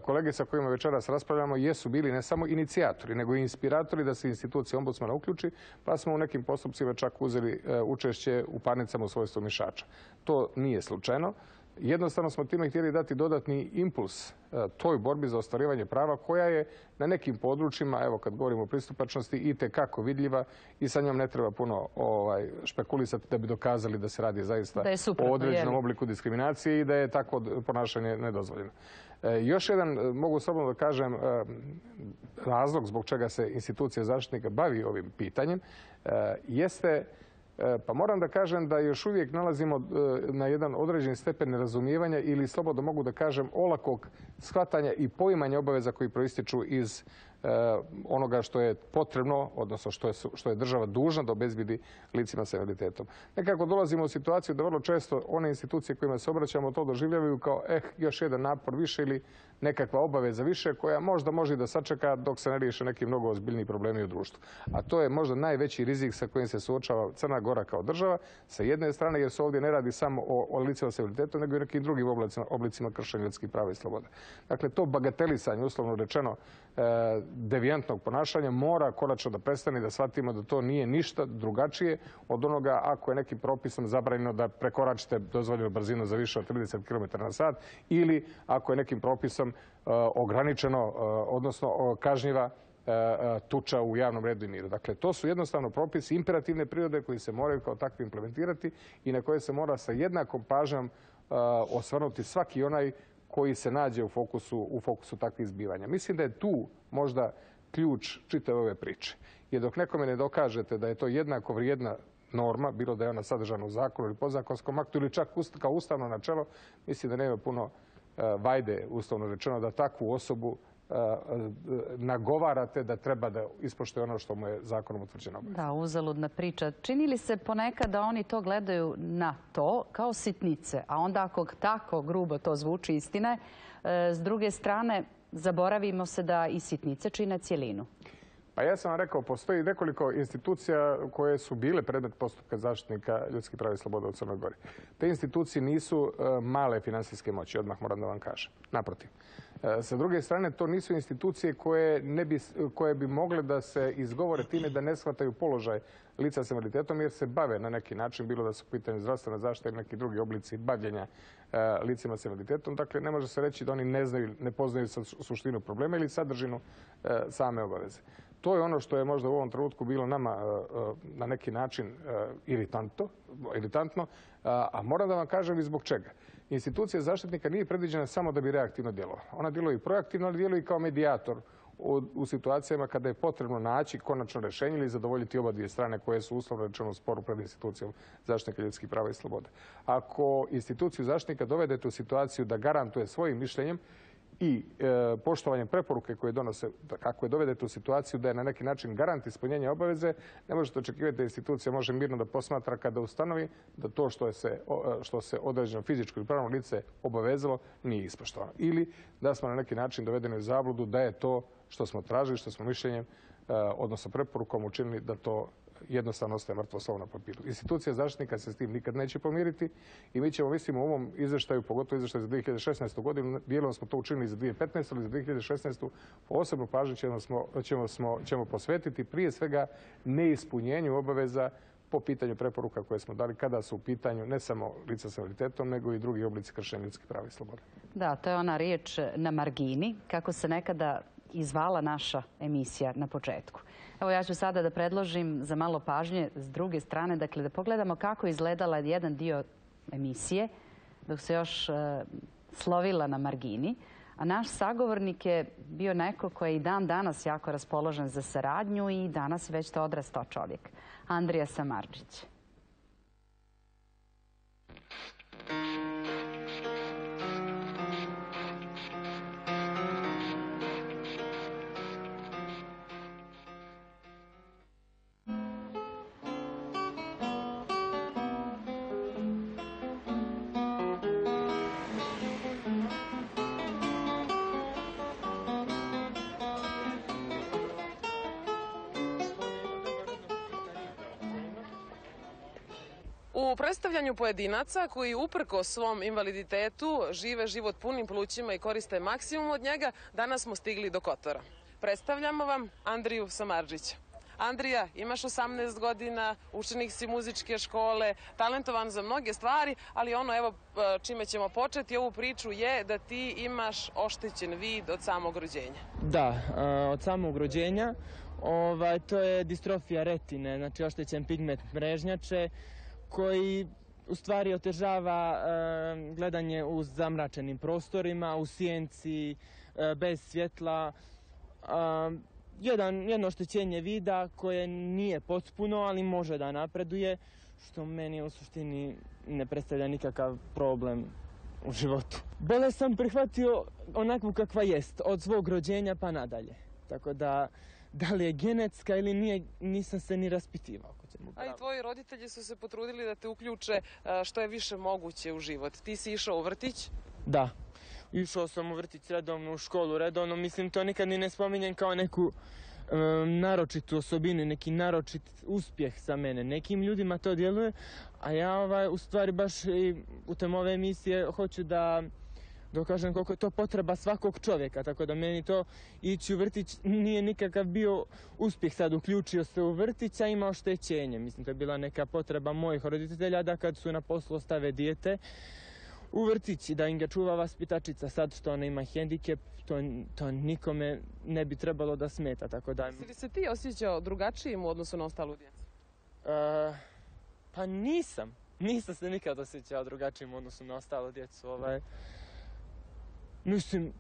[SPEAKER 2] Kolege sa kojima večeras raspravljamo jesu bili ne samo inicijatori, nego i inspiratori da se institucija ombudsmana uključi, pa smo u nekim postupcima čak uzeli učešće u parnicama u svojstvu mišača. To nije slučajno. Jednostavno smo time htjeli dati dodatni impuls toj borbi za ostvarivanje prava koja je na nekim područjima, evo kad govorimo o pristupačnosti, itekako vidljiva i sa njom ne treba puno špekulisati da bi dokazali da se radi zaista o određenom obliku diskriminacije i da je takvo ponašanje nedozvoljeno. Još jedan, mogu slobodno da kažem, razlog zbog čega se institucija zaštitnika bavi ovim pitanjem jeste, pa moram da kažem da još uvijek nalazimo na jedan određeni stepen nerazumijevanja ili slobodno mogu da kažem olakog shvatanja i poimanja obaveza koji proističu iz onoga što je potrebno, odnosno što je država dužna da obezbedi licima sa invaliditetom. Nekako dolazimo u situaciju da vrlo često one institucije kojima se obraćamo to doživljavaju kao eh, još jedan napor više ili nekakva obaveza više koja možda može da sačeka dok se ne riješe neki mnogo ozbiljniji problemi u društvu. A to je možda najveći rizik sa kojim se suočava Crna Gora kao država, sa jedne strane jer se ovdje ne radi samo o, o licima sa invaliditetom, nego i nekim drugim oblicima, oblicima kršenja ljudskih prava i sloboda. Dakle, to bagatelisanje, uslovno rečeno, e, devijantnog ponašanja mora konačno da prestane i da shvatimo da to nije ništa drugačije od onoga ako je nekim propisom zabranjeno da prekoračite dozvoljenu brzinu za više od trideset kilometara na sat ili ako je nekim propisom uh, ograničeno, uh, odnosno kažnjiva uh, tuča u javnom redu i miru. Dakle, to su jednostavno propisi imperativne prirode koji se moraju kao takvi implementirati i na koje se mora sa jednakom pažnjom uh, osvrnuti svaki onaj koji se nađe u fokusu, u fokusu takvih zbivanja. Mislim da je tu možda ključ čitave ove priče. Jer dok nekome ne dokažete da je to jednako vrijedna norma, bilo da je ona sadržana u zakonu ili podzakonskom aktu ili čak kao ustavno načelo, mislim da nema puno vajde, uslovno rečeno, da takvu osobu nagovarate da treba da ispoštuje ono što mu je zakonom utvrđeno.
[SPEAKER 1] Da, uzaludna priča. Čini li se ponekad da oni to gledaju na to kao sitnice, a onda ako tako grubo to zvuči istine, s druge strane zaboravimo se da i sitnice čine cjelinu?
[SPEAKER 2] Pa ja sam vam rekao, postoji nekoliko institucija koje su bile predmet postupka zaštitnika ljudskih prava i sloboda u Crnoj Gori. Te institucije nisu male finansijske moći, odmah moram da vam kažem. Naprotiv. Sa druge strane, to nisu institucije koje, ne bi, koje bi mogle da se izgovore time da ne shvataju položaj lica s invaliditetom jer se bave na neki način, bilo da su u pitanju zdravstvena zaštita ili neki drugi oblici bavljenja licima s invaliditetom. Dakle, ne može se reći da oni ne znaju, ne poznaju suštinu problema ili sadržinu same obaveze. To je ono što je možda u ovom trenutku bilo nama na neki način iritantno, iritantno, a moram da vam kažem i zbog čega. Institucija zaštitnika nije predviđena samo da bi reaktivno djelovala. Ona djeluje i proaktivno, ali djeluje i kao medijator u, u situacijama kada je potrebno naći konačno rješenje ili zadovoljiti oba dvije strane koje su uslovno rečeno u sporu pred institucijom zaštitnika ljudskih prava i slobode. Ako instituciju zaštitnika dovedete u situaciju da garantuje svojim mišljenjem i e, poštovanjem preporuke koje donose, kako je dovedete u situaciju da je na neki način garant ispunjenja obaveze, ne možete očekivati da institucija može mirno da posmatra kada ustanovi da to što, je se, što se određeno fizičko ili pravno lice obavezalo nije ispoštovano. Ili da smo na neki način dovedeni u zabludu da je to što smo tražili, što smo mišljenjem, e, odnosno preporukom učinili da to jednostavno ostaje mrtvo slovo na papiru. Institucija zaštitnika se s tim nikad neće pomiriti i mi ćemo, mislim, u ovom izveštaju, pogotovo izveštaju za dvije hiljade šesnaestu. godinu, dijelom smo to učinili za dvije hiljade petnaestu. ali za dvije hiljade šesnaestu. posebnu pažnju ćemo, smo, ćemo, smo, ćemo posvetiti prije svega neispunjenju obaveza po pitanju preporuka koje smo dali kada su u pitanju ne samo lica s invaliditetom, nego i drugi oblici kršenja ljudskih prava i sloboda.
[SPEAKER 1] Da, to je ona riječ na margini, kako se nekada izvala naša emisija na početku. Evo, ja ću sada da predložim za malo pažnje s druge strane, dakle da pogledamo kako je izgledala jedan dio emisije dok se još e, slovila na margini. A naš sagovornik je bio neko koji je i dan danas jako raspoložen za saradnju i danas već to odrastao čovjek. Andrija Samardžić.
[SPEAKER 10] U predstavljanju pojedinaca koji uprko svom invaliditetu žive život punim plućima i koriste maksimum od njega, danas smo stigli do Kotora. Predstavljamo vam Andriju Samardžića. Andrija, imaš osamnaest godina, učenik si muzičke škole, talentovan za mnoge stvari, ali ono, evo, čime ćemo početi ovu priču je da ti imaš oštećen vid od samog rođenja.
[SPEAKER 11] Da, od samog rođenja. Ovaj, to je distrofija retine, znači oštećen pigment mrežnjače, koji u stvari otežava e, gledanje u zamračenim prostorima, u sjenci, e, bez svjetla. E, jedan, jedno oštećenje vida koje nije potpuno, ali može da napreduje, što meni u suštini ne predstavlja nikakav problem u životu. Bolest sam prihvatio onakvu kakva jest, od svog rođenja pa nadalje. Tako da, da li je genetska ili nije, nisam se ni raspitivao.
[SPEAKER 10] A i tvoji roditelji su se potrudili da te uključe što je više moguće u život. Ti si išao u vrtić?
[SPEAKER 11] Da, išao sam u vrtić redovno, u školu redovno. Mislim, to nikad ni ne spominjem kao neku um, naročitu osobinu, neki naročit uspjeh za mene. Nekim ljudima to djeluje, a ja ovaj, u stvari baš i putem ove emisije hoću da dokažem koliko je to potreba svakog čovjeka, tako da meni to ići u vrtić nije nikakav bio uspjeh. Sad uključio se u vrtić, a ima oštećenje. Mislim, to je bila neka potreba mojih roditelja da kad su na poslu ostave dijete u vrtić i da im ga čuva vaspitačica. Sad što ona ima hendikep, to, to nikome ne bi trebalo da smeta, tako da...
[SPEAKER 10] Si li se ti osjećao drugačijim u odnosu na ostalu djecu?
[SPEAKER 11] Uh, pa nisam. Nisam se nikad osjećao drugačijim u odnosu na ostalu djecu. Ovaj... Mislim,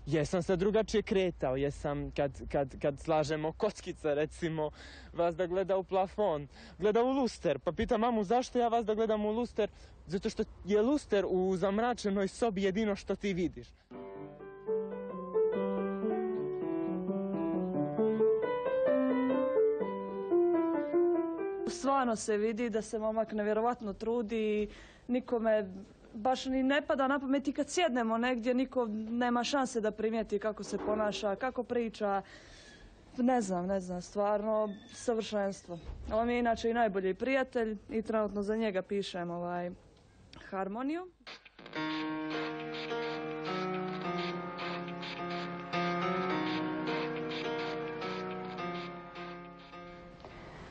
[SPEAKER 11] jesam se drugačije kretao, jesam kad, kad, kad slažemo kockice, recimo, vas da gleda u plafon, gleda u luster, pa pita mamu zašto ja vas da gledam u luster, zato što je luster u zamračenoj sobi jedino što ti vidiš.
[SPEAKER 12] Stvarno se vidi da se momak nevjerovatno trudi i nikome baš ni ne pada na pamet i kad sjednemo negdje, niko nema šanse da primijeti kako se ponaša, kako priča. Ne znam, ne znam, stvarno savršenstvo. On je inače i najbolji prijatelj i trenutno za njega pišem ovaj harmoniju.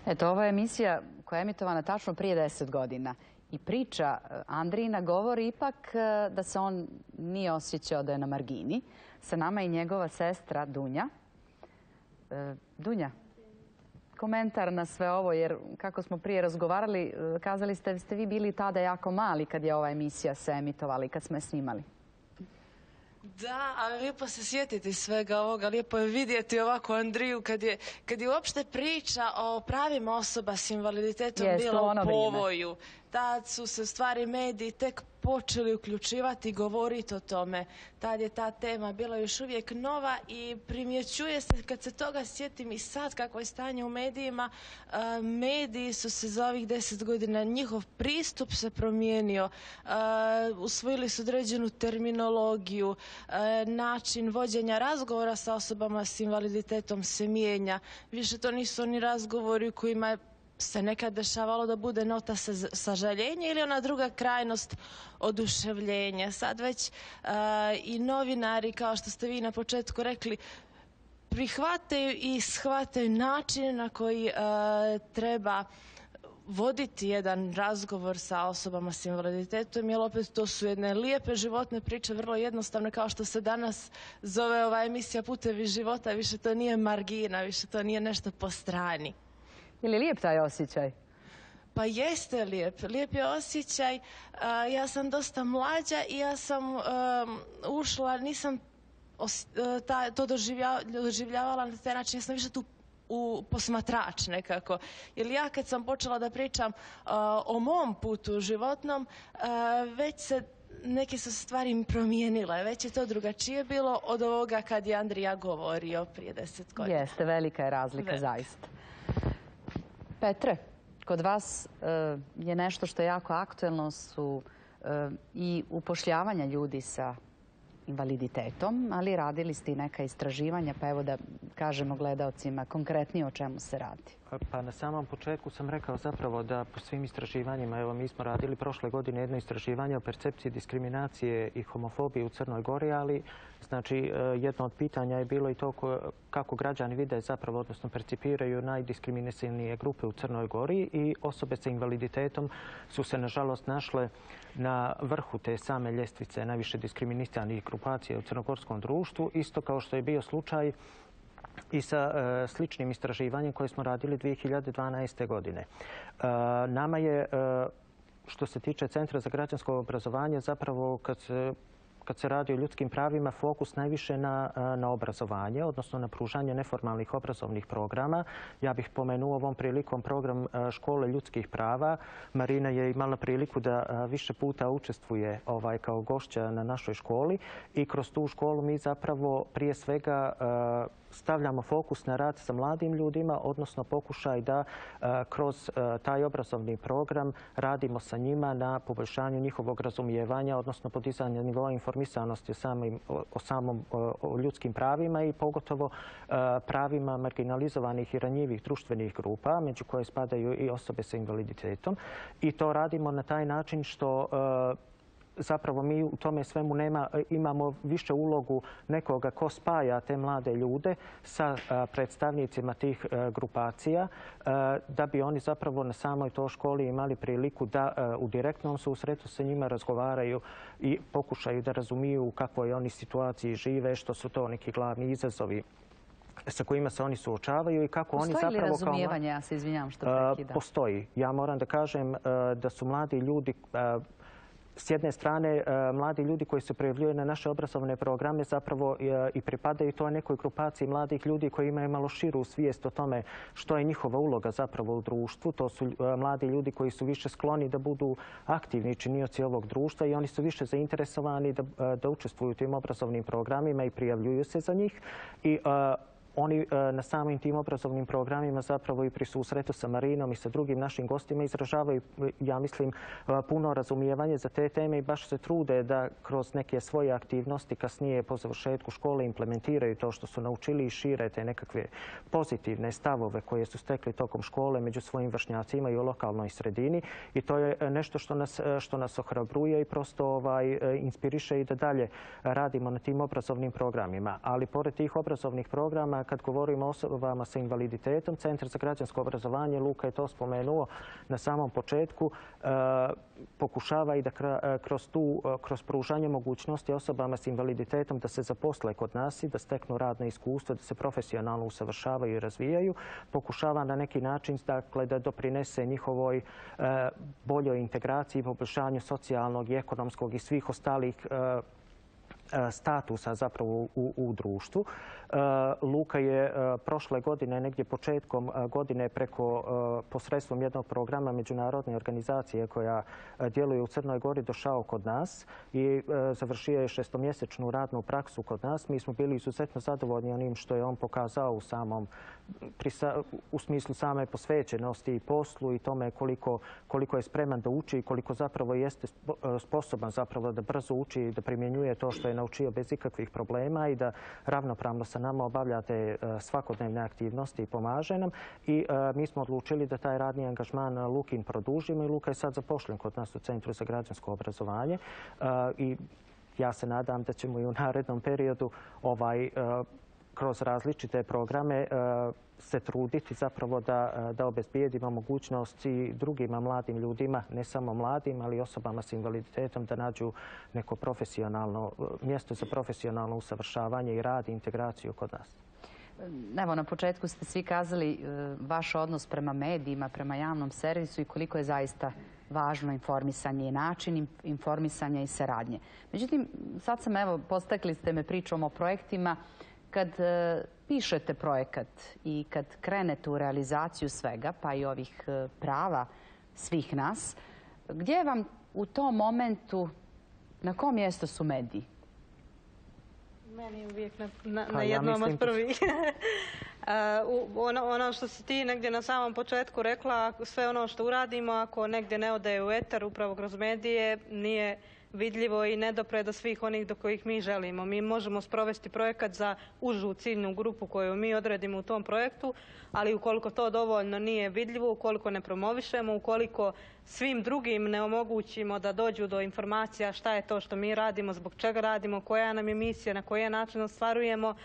[SPEAKER 1] Eto, ova je emisija koja je emitovana tačno prije deset godina. I priča Andrijina govori ipak da se on nije osjećao da je na margini. Sa nama je i njegova sestra Dunja. Dunja, komentar na sve ovo, jer kako smo prije razgovarali, kazali ste da ste vi bili tada jako mali kad je ova emisija se emitovala i kad smo je snimali.
[SPEAKER 13] Da, ali lijepo se sjetiti svega ovoga, lijepo je vidjeti ovako Andriju kad je, kad je uopšte priča o pravima osoba s invaliditetom
[SPEAKER 1] Jest,
[SPEAKER 13] bila
[SPEAKER 1] ono
[SPEAKER 13] u povoju. Tad su se u stvari mediji tek počeli uključivati i govoriti o tome. Tad je ta tema bila još uvijek nova i primjećuje se, kad se toga sjetim i sad kako je stanje u medijima, mediji su se za ovih deset godina, njihov pristup se promijenio, usvojili su određenu terminologiju, način vođenja razgovora sa osobama s invaliditetom se mijenja. Više to nisu oni razgovori u kojima se nekad dešavalo da bude nota sažaljenja ili ona druga krajnost oduševljenja. Sad već i novinari, kao što ste vi na početku rekli, prihvataju i shvataju način na koji treba voditi jedan razgovor sa osobama s invaliditetom, jer opet to su jedne lijepe životne priče, vrlo jednostavne, kao što se danas zove ova emisija Putevi života, više to nije margina, više to nije nešto po strani.
[SPEAKER 1] Je li lijep taj osjećaj?
[SPEAKER 13] Pa jeste lijep. Lijep je osjećaj. Ja sam dosta mlađa i ja sam ušla, nisam to doživljavala na taj način, ja sam više tu u posmatrač nekako. Jer ja kad sam počela da pričam o mom putu životnom, već se neke su stvari promijenile. Već je to drugačije bilo od ovoga kad je Andrija govorio prije deset godina.
[SPEAKER 1] Jeste, velika je razlika zaista. Petre, kod vas je nešto što je jako aktuelno su i upošljavanja ljudi sa invaliditetom, ali radili ste i neka istraživanja, pa evo da kažemo gledaocima konkretnije o čemu se radi.
[SPEAKER 5] Pa na samom početku sam rekao zapravo da po svim istraživanjima, evo mi smo radili prošle godine jedno istraživanje o percepciji diskriminacije i homofobije u Crnoj Gori, ali znači jedno od pitanja je bilo i to kako građani vide zapravo, odnosno percipiraju najdiskriminacijnije grupe u Crnoj Gori i osobe sa invaliditetom su se nažalost našle na vrhu te same ljestvice najviše diskriminiranih grupacija u crnogorskom društvu, isto kao što je bio slučaj i sa e, sličnim istraživanjem koje smo radili dvije hiljade dvanaeste. godine. E, nama je, e, što se tiče Centra za građansko obrazovanje, zapravo kad se kad se radi o ljudskim pravima, fokus najviše na, na obrazovanje, odnosno na pružanje neformalnih obrazovnih programa. Ja bih pomenuo ovom prilikom program Škole ljudskih prava. Marina je imala priliku da više puta učestvuje ovaj, kao gošća na našoj školi i kroz tu školu mi zapravo prije svega stavljamo fokus na rad sa mladim ljudima, odnosno pokušaj da kroz taj obrazovni program radimo sa njima na poboljšanju njihovog razumijevanja, odnosno podizanja nivoa informisanosti o samim, o samom o ljudskim pravima i pogotovo pravima marginalizovanih i ranjivih društvenih grupa, među koje spadaju i osobe sa invaliditetom. I to radimo na taj način što zapravo mi u tome svemu nema, imamo više ulogu nekoga ko spaja te mlade ljude sa predstavnicima tih grupacija, da bi oni zapravo na samoj toj školi imali priliku da u direktnom susretu sa njima razgovaraju i pokušaju da razumiju u kakvoj oni situaciji žive, što su to neki glavni izazovi sa kojima se oni suočavaju i kako oni zapravo...
[SPEAKER 1] Postoji li razumijevanje? Ja se izvinjavam što prekidam.
[SPEAKER 5] Postoji. Ja moram da kažem da su mladi ljudi... S jedne strane, mladi ljudi koji se prijavljuju na naše obrazovne programe zapravo i pripadaju toj nekoj grupaciji mladih ljudi koji imaju malo širu svijest o tome što je njihova uloga zapravo u društvu. To su mladi ljudi koji su više skloni da budu aktivni činioci ovog društva i oni su više zainteresovani da, da učestvuju u tim obrazovnim programima i prijavljuju se za njih. I, Oni na samim tim obrazovnim programima zapravo i pri susretu sa Marinom i sa drugim našim gostima izražavaju, ja mislim, puno razumijevanje za te teme i baš se trude da kroz neke svoje aktivnosti kasnije po završetku škole implementiraju to što su naučili i šire te nekakve pozitivne stavove koje su stekli tokom škole među svojim vršnjacima i u lokalnoj sredini. I to je nešto što nas, što nas ohrabruje i prosto ovaj, inspiriše i da dalje radimo na tim obrazovnim programima. Ali pored tih obrazovnih programa, kad govorimo o osobama sa invaliditetom, Centar za građansko obrazovanje, Luka je to spomenuo na samom početku, pokušava i da kroz, tu, kroz pružanje mogućnosti osobama s invaliditetom da se zaposle kod nas i da steknu radno iskustvo, da se profesionalno usavršavaju i razvijaju, pokušava na neki način dakle, da doprinese njihovoj boljoj integraciji, poboljšanju socijalnog i ekonomskog i svih ostalih statusa zapravo u, u društvu. Luka je prošle godine, negdje početkom godine, preko posredstvom jednog programa međunarodne organizacije koja djeluje u Crnoj Gori došao kod nas i završio je šestomjesečnu radnu praksu kod nas. Mi smo bili izuzetno zadovoljni onim što je on pokazao u samom, u smislu same posvećenosti i poslu i tome koliko, koliko je spreman da uči i koliko zapravo jeste sposoban zapravo da brzo uči i da primjenjuje to što je naučio bez ikakvih problema i da ravnopravno sa nama obavlja te svakodnevne aktivnosti i pomaže nam. I mi smo odlučili da taj radni angažman Lukin produžimo i Luka je sad zapošljen kod nas u Centru za građansko obrazovanje i ja se nadam da ćemo i u narednom periodu ovaj, kroz različite programe se truditi zapravo da, da obezbijedimo mogućnost i drugima mladim ljudima, ne samo mladim, ali i osobama s invaliditetom da nađu neko profesionalno mjesto za profesionalno usavršavanje i rad i integraciju kod nas.
[SPEAKER 1] Evo, na početku ste svi kazali vaš odnos prema medijima, prema javnom servisu i koliko je zaista važno informisanje i način informisanja i saradnje. Međutim, sad sam, evo, postakli ste me pričom o projektima. Kad pišete projekat i kad krenete u realizaciju svega, pa i ovih prava svih nas, gdje vam u tom momentu, na kom mjestu su mediji?
[SPEAKER 3] Meni je uvijek na, na, na jednom od prvih. ono, ono što si ti negdje na samom početku rekla, sve ono što uradimo, ako negdje ne ode u etar, upravo kroz medije, nije vidljivo i ne dopre do svih onih do kojih mi želimo. Mi možemo sprovesti projekat za užu ciljnu grupu koju mi odredimo u tom projektu, ali ukoliko to dovoljno nije vidljivo, ukoliko ne promovišemo, ukoliko svim drugim ne omogućimo da dođu do informacija šta je to što mi radimo, zbog čega radimo, koja nam je misija, na koji način ostvarujemo,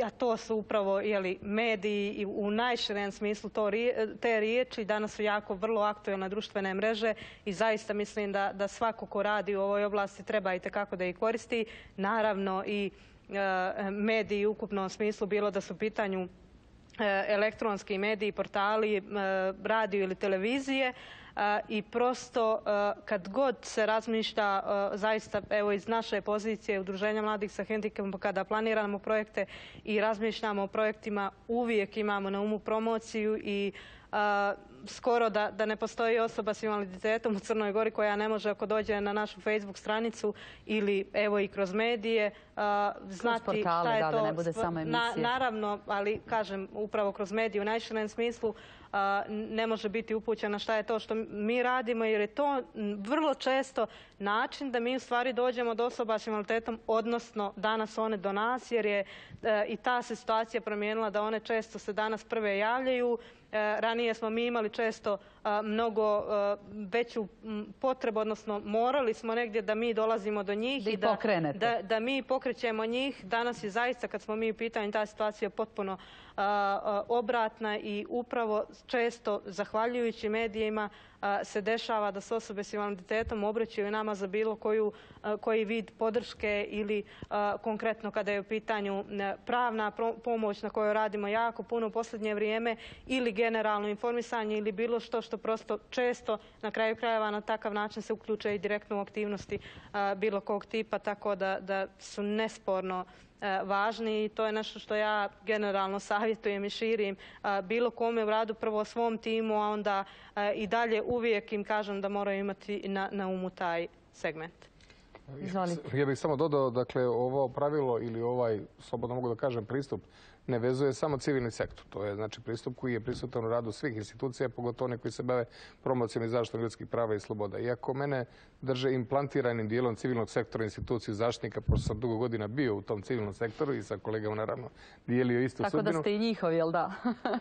[SPEAKER 3] a to su upravo jeli, mediji i u najširem smislu to, te riječi. Danas su jako vrlo aktuelne društvene mreže i zaista mislim da, da svako ko radi u ovoj oblasti treba i tekako da ih koristi. Naravno i e, mediji u ukupnom smislu, bilo da su u pitanju e, elektronski mediji, portali, e, radio ili televizije. I prosto kad god se razmišlja zaista evo iz naše pozicije Udruženja mladih sa hendikepom kada planiramo projekte i razmišljamo o projektima uvijek imamo na umu promociju i skoro da, da ne postoji osoba s invaliditetom u Crnoj Gori koja ne može ako dođe na našu Facebook stranicu ili evo i kroz medije znati
[SPEAKER 1] kroz portale,
[SPEAKER 3] šta je
[SPEAKER 1] da,
[SPEAKER 3] to.
[SPEAKER 1] Da ne bude samo emisije.
[SPEAKER 3] Na, naravno, ali kažem upravo kroz medije u najširem smislu ne može biti upućena šta je to što mi radimo jer je to vrlo često način da mi u stvari dođemo do osoba s invaliditetom, odnosno danas one do nas jer je i ta se situacija promijenila da one često se danas prve javljaju. Ranije smo mi imali često mnogo veću potrebu, odnosno morali smo negdje da mi dolazimo do njih
[SPEAKER 1] i da,
[SPEAKER 3] da, da mi pokrećemo njih. Danas je zaista, kad smo mi u pitanju, ta situacija potpuno obratna i upravo često, zahvaljujući medijima, se dešava da se osobe s invaliditetom obraćaju nama za bilo koju, koji vid podrške ili konkretno kada je u pitanju pravna pomoć na kojoj radimo jako puno u posljednje vrijeme ili generalno informisanje ili bilo što što prosto često na kraju krajeva na takav način se uključe i direktno u aktivnosti bilo kog tipa, tako da, da su nesporno važni i to je nešto što ja generalno savjetujem i širim bilo kome u radu, prvo svom timu, a onda i dalje uvijek im kažem da moraju imati na, na umu taj segment.
[SPEAKER 1] Izvolite.
[SPEAKER 2] Ja bih samo dodao, dakle, ovo pravilo ili ovaj, slobodno mogu da kažem, pristup ne vezuje samo civilni sektor. To je znači pristup koji je prisutan u radu svih institucija, pogotovo oni koji se bave promocijom i zaštitom ljudskih prava i sloboda. Iako mene drže implantiranim dijelom civilnog sektora instituciju zaštitnika, pošto sam dugo godina bio u tom civilnom sektoru i sa kolegama naravno dijelio istu
[SPEAKER 1] Tako
[SPEAKER 2] sudbinu.
[SPEAKER 1] Tako da ste i njihovi, jel da?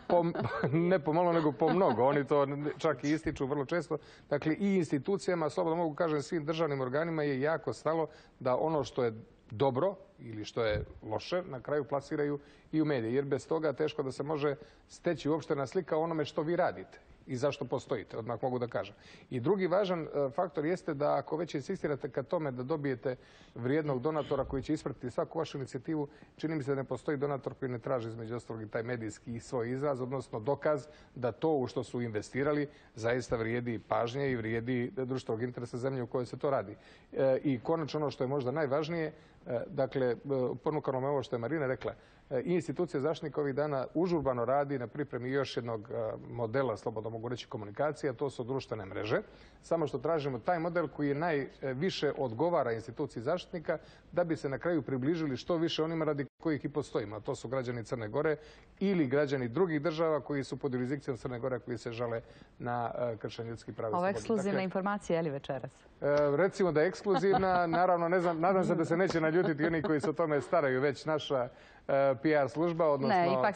[SPEAKER 2] po, ne pomalo, nego po mnogo. Oni to čak i ističu vrlo često. Dakle, i institucijama, slobodno mogu kažem svim državnim organima je jako stalo da ono što je dobro ili što je loše, na kraju plasiraju i u medije. Jer bez toga teško da se može steći uopštena slika o onome što vi radite i zašto postojite, odmah mogu da kažem. I drugi važan faktor jeste da ako već insistirate ka tome da dobijete vrijednog donatora koji će ispratiti svaku vašu inicijativu, čini mi se da ne postoji donator koji ne traži između ostalog i taj medijski svoj izraz, odnosno dokaz da to u što su investirali zaista vrijedi pažnje i vrijedi društvenog interesa zemlje u kojoj se to radi. I konačno ono što je možda najvažnije, dakle, je, ponukano me ovo što je Marina rekla, i institucija zaštitnika ovih dana užurbano radi na pripremi još jednog modela, slobodno mogu reći, komunikacije, a to su društvene mreže. Samo što tražimo taj model koji je najviše odgovara instituciji zaštitnika da bi se na kraju približili što više onima radi kojih i postojimo, a to su građani Crne Gore ili građani drugih država koji su pod jurisdikcijom Crne Gore koji se žale na kršenje ljudskih prava i slobode.
[SPEAKER 1] Ovo je ekskluzivna informacija, je li večeras?
[SPEAKER 2] Recimo da je ekskluzivna, naravno ne znam, nadam se da se neće naljutiti oni koji se o tome staraju, već naša P R služba, odnosno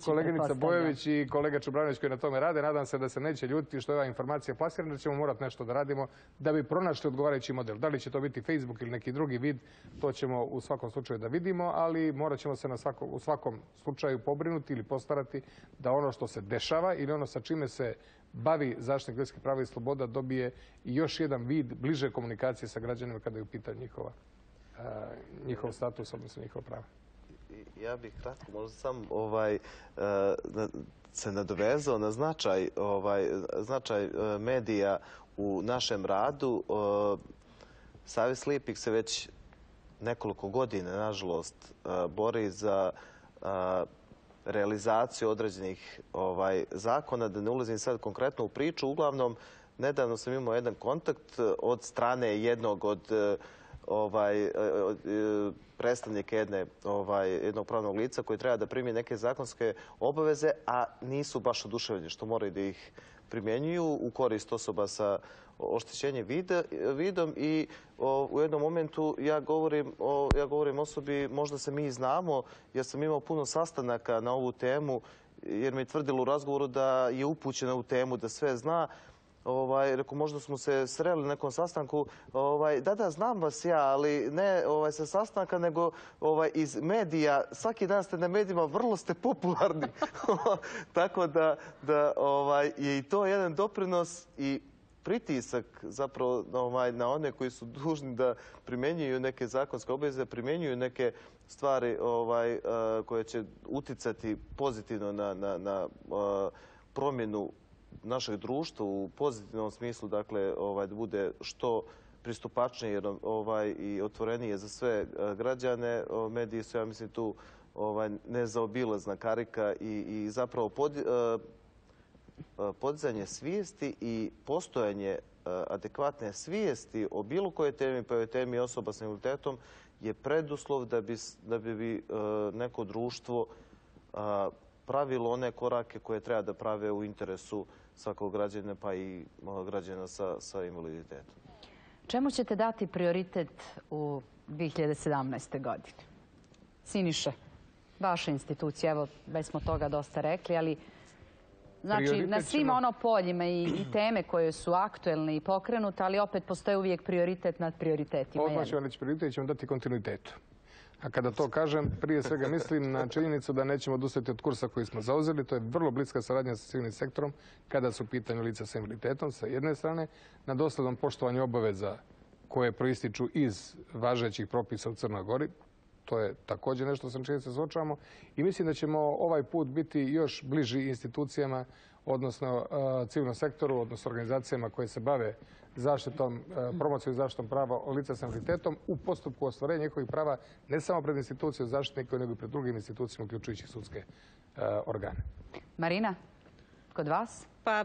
[SPEAKER 2] koleginica Bojović i kolega Čubranović koji na tome rade. Nadam se da se neće ljutiti što je ova informacija plasirana, da ćemo morati nešto da radimo da bi pronašli odgovarajući model. Da li će to biti Facebook ili neki drugi vid, to ćemo u svakom slučaju da vidimo, ali morat ćemo se u svakom slučaju pobrinuti ili postarati da ono što se dešava ili ono sa čime se bavi zaštitnik ljudskih prava i sloboda dobije još jedan vid bliže komunikacije sa građanima kada je u pitanju njihov status, odnosno njihova prava.
[SPEAKER 4] Ja bih kratko možda sam se nadovezao na značaj medija u našem radu. Savez slijepih se već nekoliko godina, nažalost, bori za realizaciju određenih zakona. Da ne ulazim sad konkretno u priču, uglavnom, nedavno sam imao jedan kontakt od strane jednog od predstavnika jednog pravnog lica koji treba da primi neke zakonske obaveze, a nisu baš oduševljeni što moraju da ih primjenjuju u korist osoba sa oštećenjem vidom i u jednom momentu ja govorim osobi, možda se mi znamo, jer sam imao puno sastanaka na ovu temu, jer mi je tvrdilo u razgovoru da je upućena u temu, da sve zna. Rekao, možda smo se sreli na nekom sastanku. Da, da, znam vas ja, ali ne sa sastanka, nego iz medija. Svaki dan ste na medijima, vrlo ste popularni. Tako da je i to jedan doprinos i pritisak zapravo na one koji su dužni da primjenjuju neke zakonske obaveze, primjenjuju neke stvari koje će uticati pozitivno na promjenu našeg društva u pozitivnom smislu, dakle, da bude što pristupačnije i otvorenije za sve građane. Mediji su, ja mislim, tu nezaobilazna karika i zapravo podizanje svijesti i postojanje adekvatne svijesti o bilo kojoj temi, pa i o temi osoba s invaliditetom, je preduslov da bi neko društvo pravilo one korake koje treba da prave u interesu svakog građana, pa i građana sa invaliditetom.
[SPEAKER 1] Čemu ćete dati prioritet u dvije hiljade sedamnaestoj. godini? Siniša, vaša institucija, evo, već smo toga dosta rekli, ali znači na svim ono poljima i teme koje su aktuelne i pokrenute, ali opet postoje uvijek prioritet nad prioritetima.
[SPEAKER 2] Odmah ćemo reći prioritet, ćemo dati kontinuitetu. A kada to kažem, prije svega mislim na činjenicu da nećemo odustati od kursa koji smo zauzeli. To je vrlo bliska saradnja sa civilnim sektorom kada su u pitanju lica sa invaliditetom sa jedne strane, na doslednom poštovanju obaveza koje proističu iz važećih propisa u Crnoj Gori. To je također nešto sa čim se suočavamo. I mislim da ćemo ovaj put biti još bliži institucijama, odnosno civilnom sektoru, odnosno organizacijama koje se bave zaštitom, promocijom i zaštitom prava lica s invaliditetom u postupku ostvarenja njihovih prava ne samo pred institucijom zaštitnika, nego i pred drugim institucijama, uključujući sudske organe.
[SPEAKER 1] Marina, kod vas?
[SPEAKER 3] Pa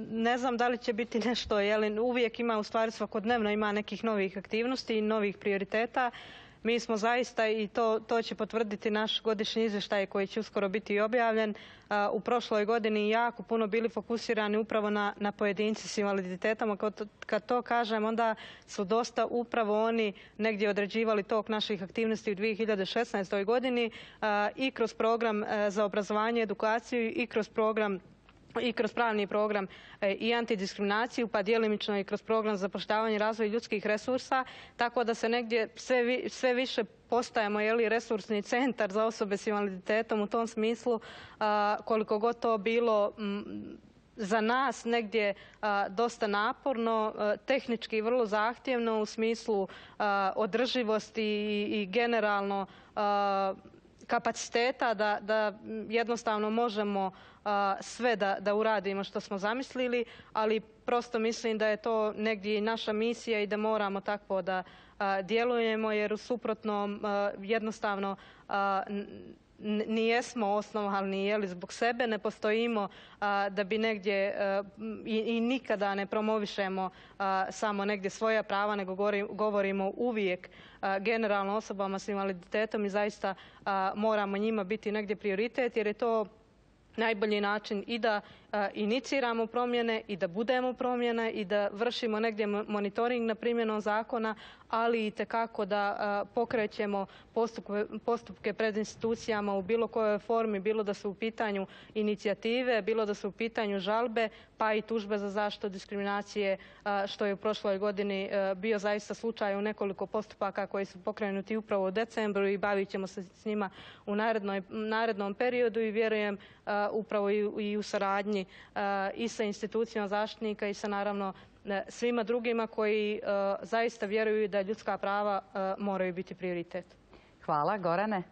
[SPEAKER 3] ne znam da li će biti nešto, jer uvijek ima, u stvari svakodnevno ima nekih novih aktivnosti i novih prioriteta. Mi smo zaista, i to će potvrditi naš godišnji izvještaj koji će uskoro biti objavljen, u prošloj godini jako puno bili fokusirani upravo na pojedince s invaliditetom. Kad to kažem, onda su dosta upravo oni negdje određivali tok naših aktivnosti u dvije hiljade šesnaestoj. godini i kroz program za obrazovanje i edukaciju i kroz program i kroz pravni program i antidiskriminaciju, pa djelimično i kroz program za zapošljavanje i razvoj ljudskih resursa, tako da se negdje sve više postajemo resursni centar za osobe s invaliditetom u tom smislu, koliko god to bilo za nas negdje dosta naporno, tehnički vrlo zahtjevno u smislu održivosti i generalno kapaciteta da jednostavno možemo sve da uradimo što smo zamislili, ali prosto mislim da je to negdje i naša misija i da moramo tako da djelujemo, jer u suprotnom jednostavno ni jesmo osnovani jeli zbog sebe, ne postojimo da bi negdje i, i nikada ne promovišemo samo negdje svoja prava, nego govorimo uvijek generalno osobama s invaliditetom i zaista moramo njima biti negdje prioritet, jer je to najbolji način i da iniciramo promjene i da budemo promjene i da vršimo negdje monitoring na primjenom zakona, ali i tekako da pokrećemo postupke, postupke pred institucijama u bilo kojoj formi, bilo da su u pitanju inicijative, bilo da su u pitanju žalbe, pa i tužbe za zaštitu diskriminacije, što je u prošloj godini bio zaista slučaj u nekoliko postupaka koji su pokrenuti upravo u decembru i bavit ćemo se s njima u narednoj, narednom periodu i vjerujem upravo i, i u saradnji i sa institucijama zaštitnika i sa naravno svima drugima koji zaista vjeruju da ljudska prava moraju biti prioritet.
[SPEAKER 1] Hvala. Gorane?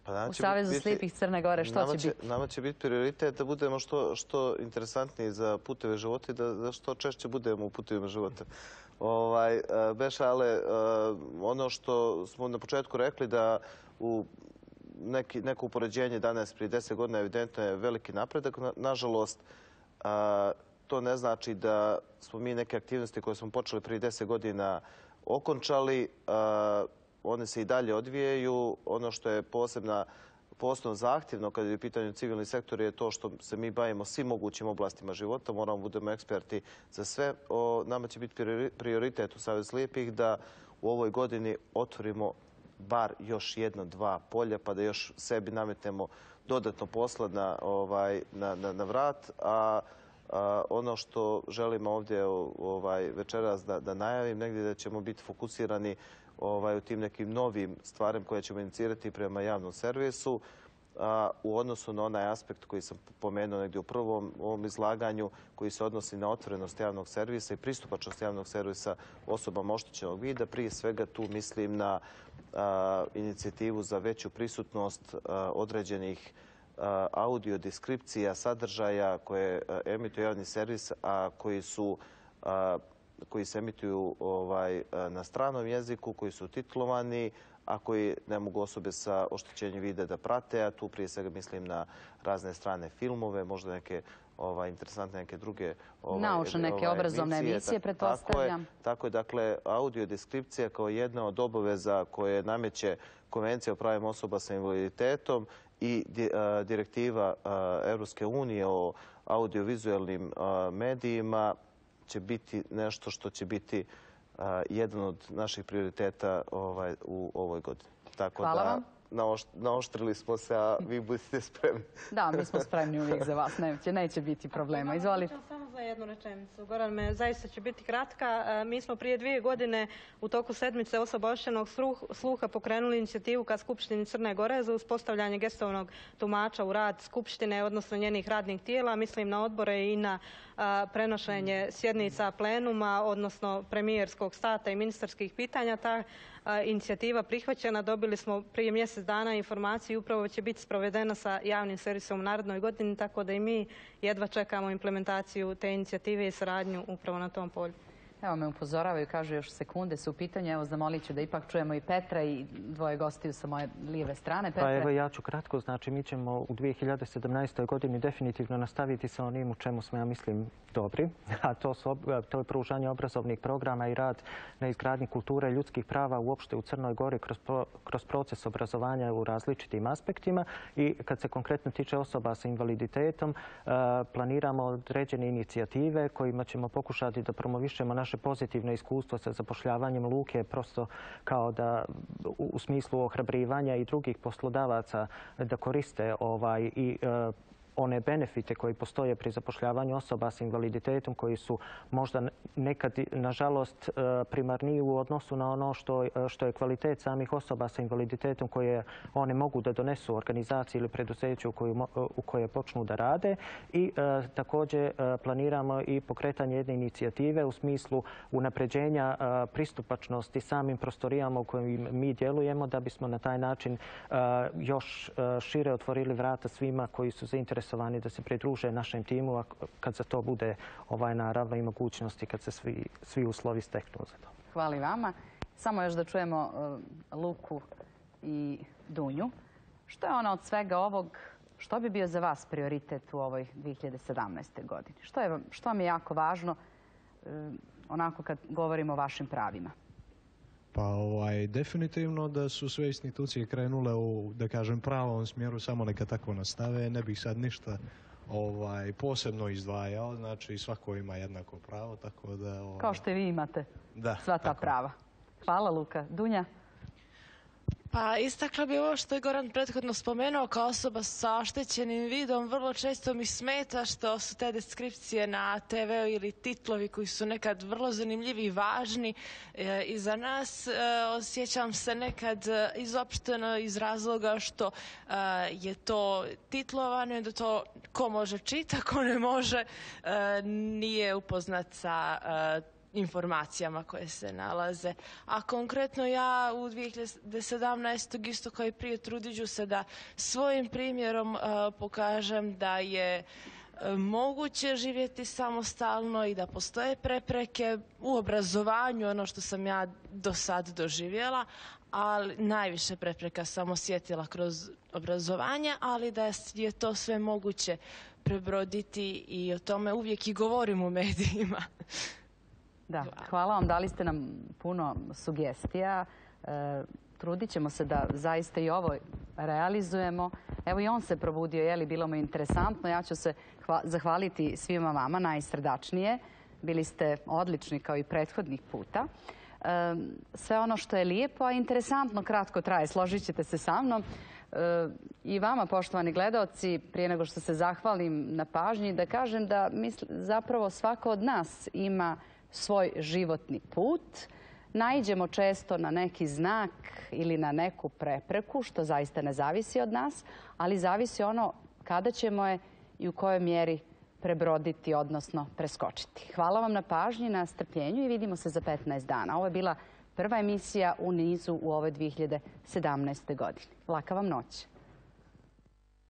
[SPEAKER 4] Pa
[SPEAKER 1] u Savezu biti, slijepih Crne Gore, što
[SPEAKER 4] nama
[SPEAKER 1] će,
[SPEAKER 4] će
[SPEAKER 1] biti?
[SPEAKER 4] Nama će biti prioritet da budemo što, što interesantniji za puteve života i da, da što češće budemo u putevima života. Ovaj, Beša, ale ono što smo na početku rekli da u neki, neko upoređenje danas prije deset godina evidentno je veliki napredak. Na, nažalost, a, to ne znači da smo mi neke aktivnosti koje smo počeli prije deset godina okončali. A, one se i dalje odvijaju. Ono što je posebna, posebno zahtjevno kada je u pitanju civilni sektor je to što se mi bavimo svim mogućim oblastima života. Moramo budemo eksperti za sve. O, nama će biti prioritet u Savezu slijepih da u ovoj godini otvorimo bar još jedno, dva polja, pa da još sebi nametnemo dodatno posla na, ovaj, na, na, na vrat. A, a ono što želimo ovdje ovaj, večeras da, da najavim, negdje da ćemo biti fokusirani ovaj, u tim nekim novim stvarima koje ćemo inicirati prema javnom servisu. A, u odnosu na onaj aspekt koji sam pomenuo negdje u prvom ovom izlaganju, koji se odnosi na otvorenost javnog servisa i pristupačnost javnog servisa osobama oštećenog vida. Prije svega tu mislim na a, inicijativu za veću prisutnost a, određenih a, audio deskripcija, sadržaja koje a, emituje javni servis, a koji su a, koji se emituju ovaj, na stranom jeziku, koji su titlovani, a koji ne mogu osobe sa oštećenjem vida da prate, a tu prije svega mislim na razne strane filmove, možda neke ovaj, interesantne neke druge ovaj,
[SPEAKER 1] naučne neke ovaj, obrazovne emisije, emisije pretpostavljam.
[SPEAKER 4] Tako je, tako je, dakle, audiodeskripcija kao jedna od obaveza koje nameće Konvencija o pravima osoba sa invaliditetom i direktiva Europske unije o audiovizualnim medijima će biti nešto što će biti uh, jedan od naših prioriteta ovaj, u ovoj godini. Tako
[SPEAKER 1] Hvala
[SPEAKER 4] da
[SPEAKER 1] vam.
[SPEAKER 4] Naošt, naoštrili smo se, a vi budete spremni.
[SPEAKER 1] Da, mi smo spremni uvijek za vas. Neće, neće biti problema. Izvolite.
[SPEAKER 3] Samo za jednu rečenicu. Goran, me zaista će biti kratka. Mi smo prije dvije godine u toku sedmice osoba oštećenog sluha pokrenuli inicijativu ka Skupštini Crne Gore za uspostavljanje gestovnog tumača u rad Skupštine, odnosno njenih radnih tijela. Mislim na odbore i na prenošenje sjednica plenuma, odnosno premijerskog stata i ministarskih pitanja. Ta inicijativa prihvaćena. Dobili smo prije mjesec dana informaciju i upravo će biti sprovedena sa javnim servisom u narednoj godini, tako da i mi jedva čekamo implementaciju te inicijative i saradnju upravo na tom polju.
[SPEAKER 1] Evo me upozoravaju, kažu još sekunde su u pitanju. Evo zamolit ću da ipak čujemo i Petra i dvoje gostiju sa moje lijeve strane. Petre.
[SPEAKER 5] Pa evo ja ću kratko, znači mi ćemo u dvije hiljade sedamnaestoj godini definitivno nastaviti sa onim u čemu smo, ja mislim, dobri, a to, su, to je pružanje obrazovnih programa i rad na izgradnji kulture ljudskih prava uopšte u Crnoj Gori kroz, kroz proces obrazovanja u različitim aspektima. I kad se konkretno tiče osoba sa invaliditetom, planiramo određene inicijative kojima ćemo pokušati da promovišemo naše pozitivno iskustvo sa zapošljavanjem luke, prosto kao da u smislu ohrabrivanja i drugih poslodavaca da koriste ovaj i one benefite koji postoje pri zapošljavanju osoba s invaliditetom, koji su možda nekad, nažalost, primarniji u odnosu na ono što, što je kvalitet samih osoba sa invaliditetom koje one mogu da donesu organizaciji ili preduzeću u, koju, u koje počnu da rade. I e, također e, planiramo i pokretanje jedne inicijative u smislu unapređenja e, pristupačnosti samim prostorijama u kojim mi djelujemo, da bismo na taj način e, još šire otvorili vrata svima koji su zainteresovani zainteresovani da se pridruže našem timu kad za to bude naravno i mogućnosti, kad se svi uslovi steknu za to.
[SPEAKER 1] Hvala i vama. Samo još da čujemo Luku i Dunju. Što je ono od svega ovog, što bi bio za vas prioritet u ovoj dvije hiljade sedamnaestoj godini? Što vam je jako važno onako kad govorimo o vašim pravima?
[SPEAKER 6] Pa ovaj, definitivno da su sve institucije krenule u, da kažem, pravom smjeru, samo neka tako nastave. Ne bih sad ništa ovaj, posebno izdvajao, znači svako ima jednako pravo, tako da... Ovaj...
[SPEAKER 1] Kao što i vi imate
[SPEAKER 6] da,
[SPEAKER 1] sva ta
[SPEAKER 6] tako.
[SPEAKER 1] prava. Hvala, Luka. Dunja?
[SPEAKER 13] Pa istakla bi ovo što je Goran prethodno spomenuo, kao osoba sa oštećenim vidom vrlo često mi smeta što su te deskripcije na te veu ili titlovi koji su nekad vrlo zanimljivi i važni e, i za nas. E, osjećam se nekad izopšteno iz razloga što e, je to titlovano i da to ko može čita, ko ne može e, nije upoznat sa e, informacijama koje se nalaze. A konkretno ja u dvije hiljade sedamnaestoj isto kao i prije trudit ću se da svojim primjerom uh, pokažem da je uh, moguće živjeti samostalno i da postoje prepreke u obrazovanju, ono što sam ja do sad doživjela, ali najviše prepreka sam osjetila kroz obrazovanje, ali da je to sve moguće prebroditi i o tome uvijek i govorim u medijima.
[SPEAKER 1] Da, hvala vam. Dali ste nam puno sugestija. E, trudit ćemo se da zaista i ovo realizujemo. Evo i on se probudio, je li bilo mu interesantno. Ja ću se zahvaliti svima vama najsrdačnije. Bili ste odlični kao i prethodnih puta. E, sve ono što je lijepo, a interesantno kratko traje, složit ćete se sa mnom. E, I vama, poštovani gledaoci, prije nego što se zahvalim na pažnji, da kažem da misl, zapravo svako od nas ima svoj životni put. Naiđemo često na neki znak ili na neku prepreku, što zaista ne zavisi od nas, ali zavisi ono kada ćemo je i u kojoj mjeri prebroditi, odnosno preskočiti. Hvala vam na pažnji, na strpljenju i vidimo se za petnaest dana. Ovo je bila prva emisija u nizu u ovoj dvije hiljade sedamnaestoj godini. Laka vam noć.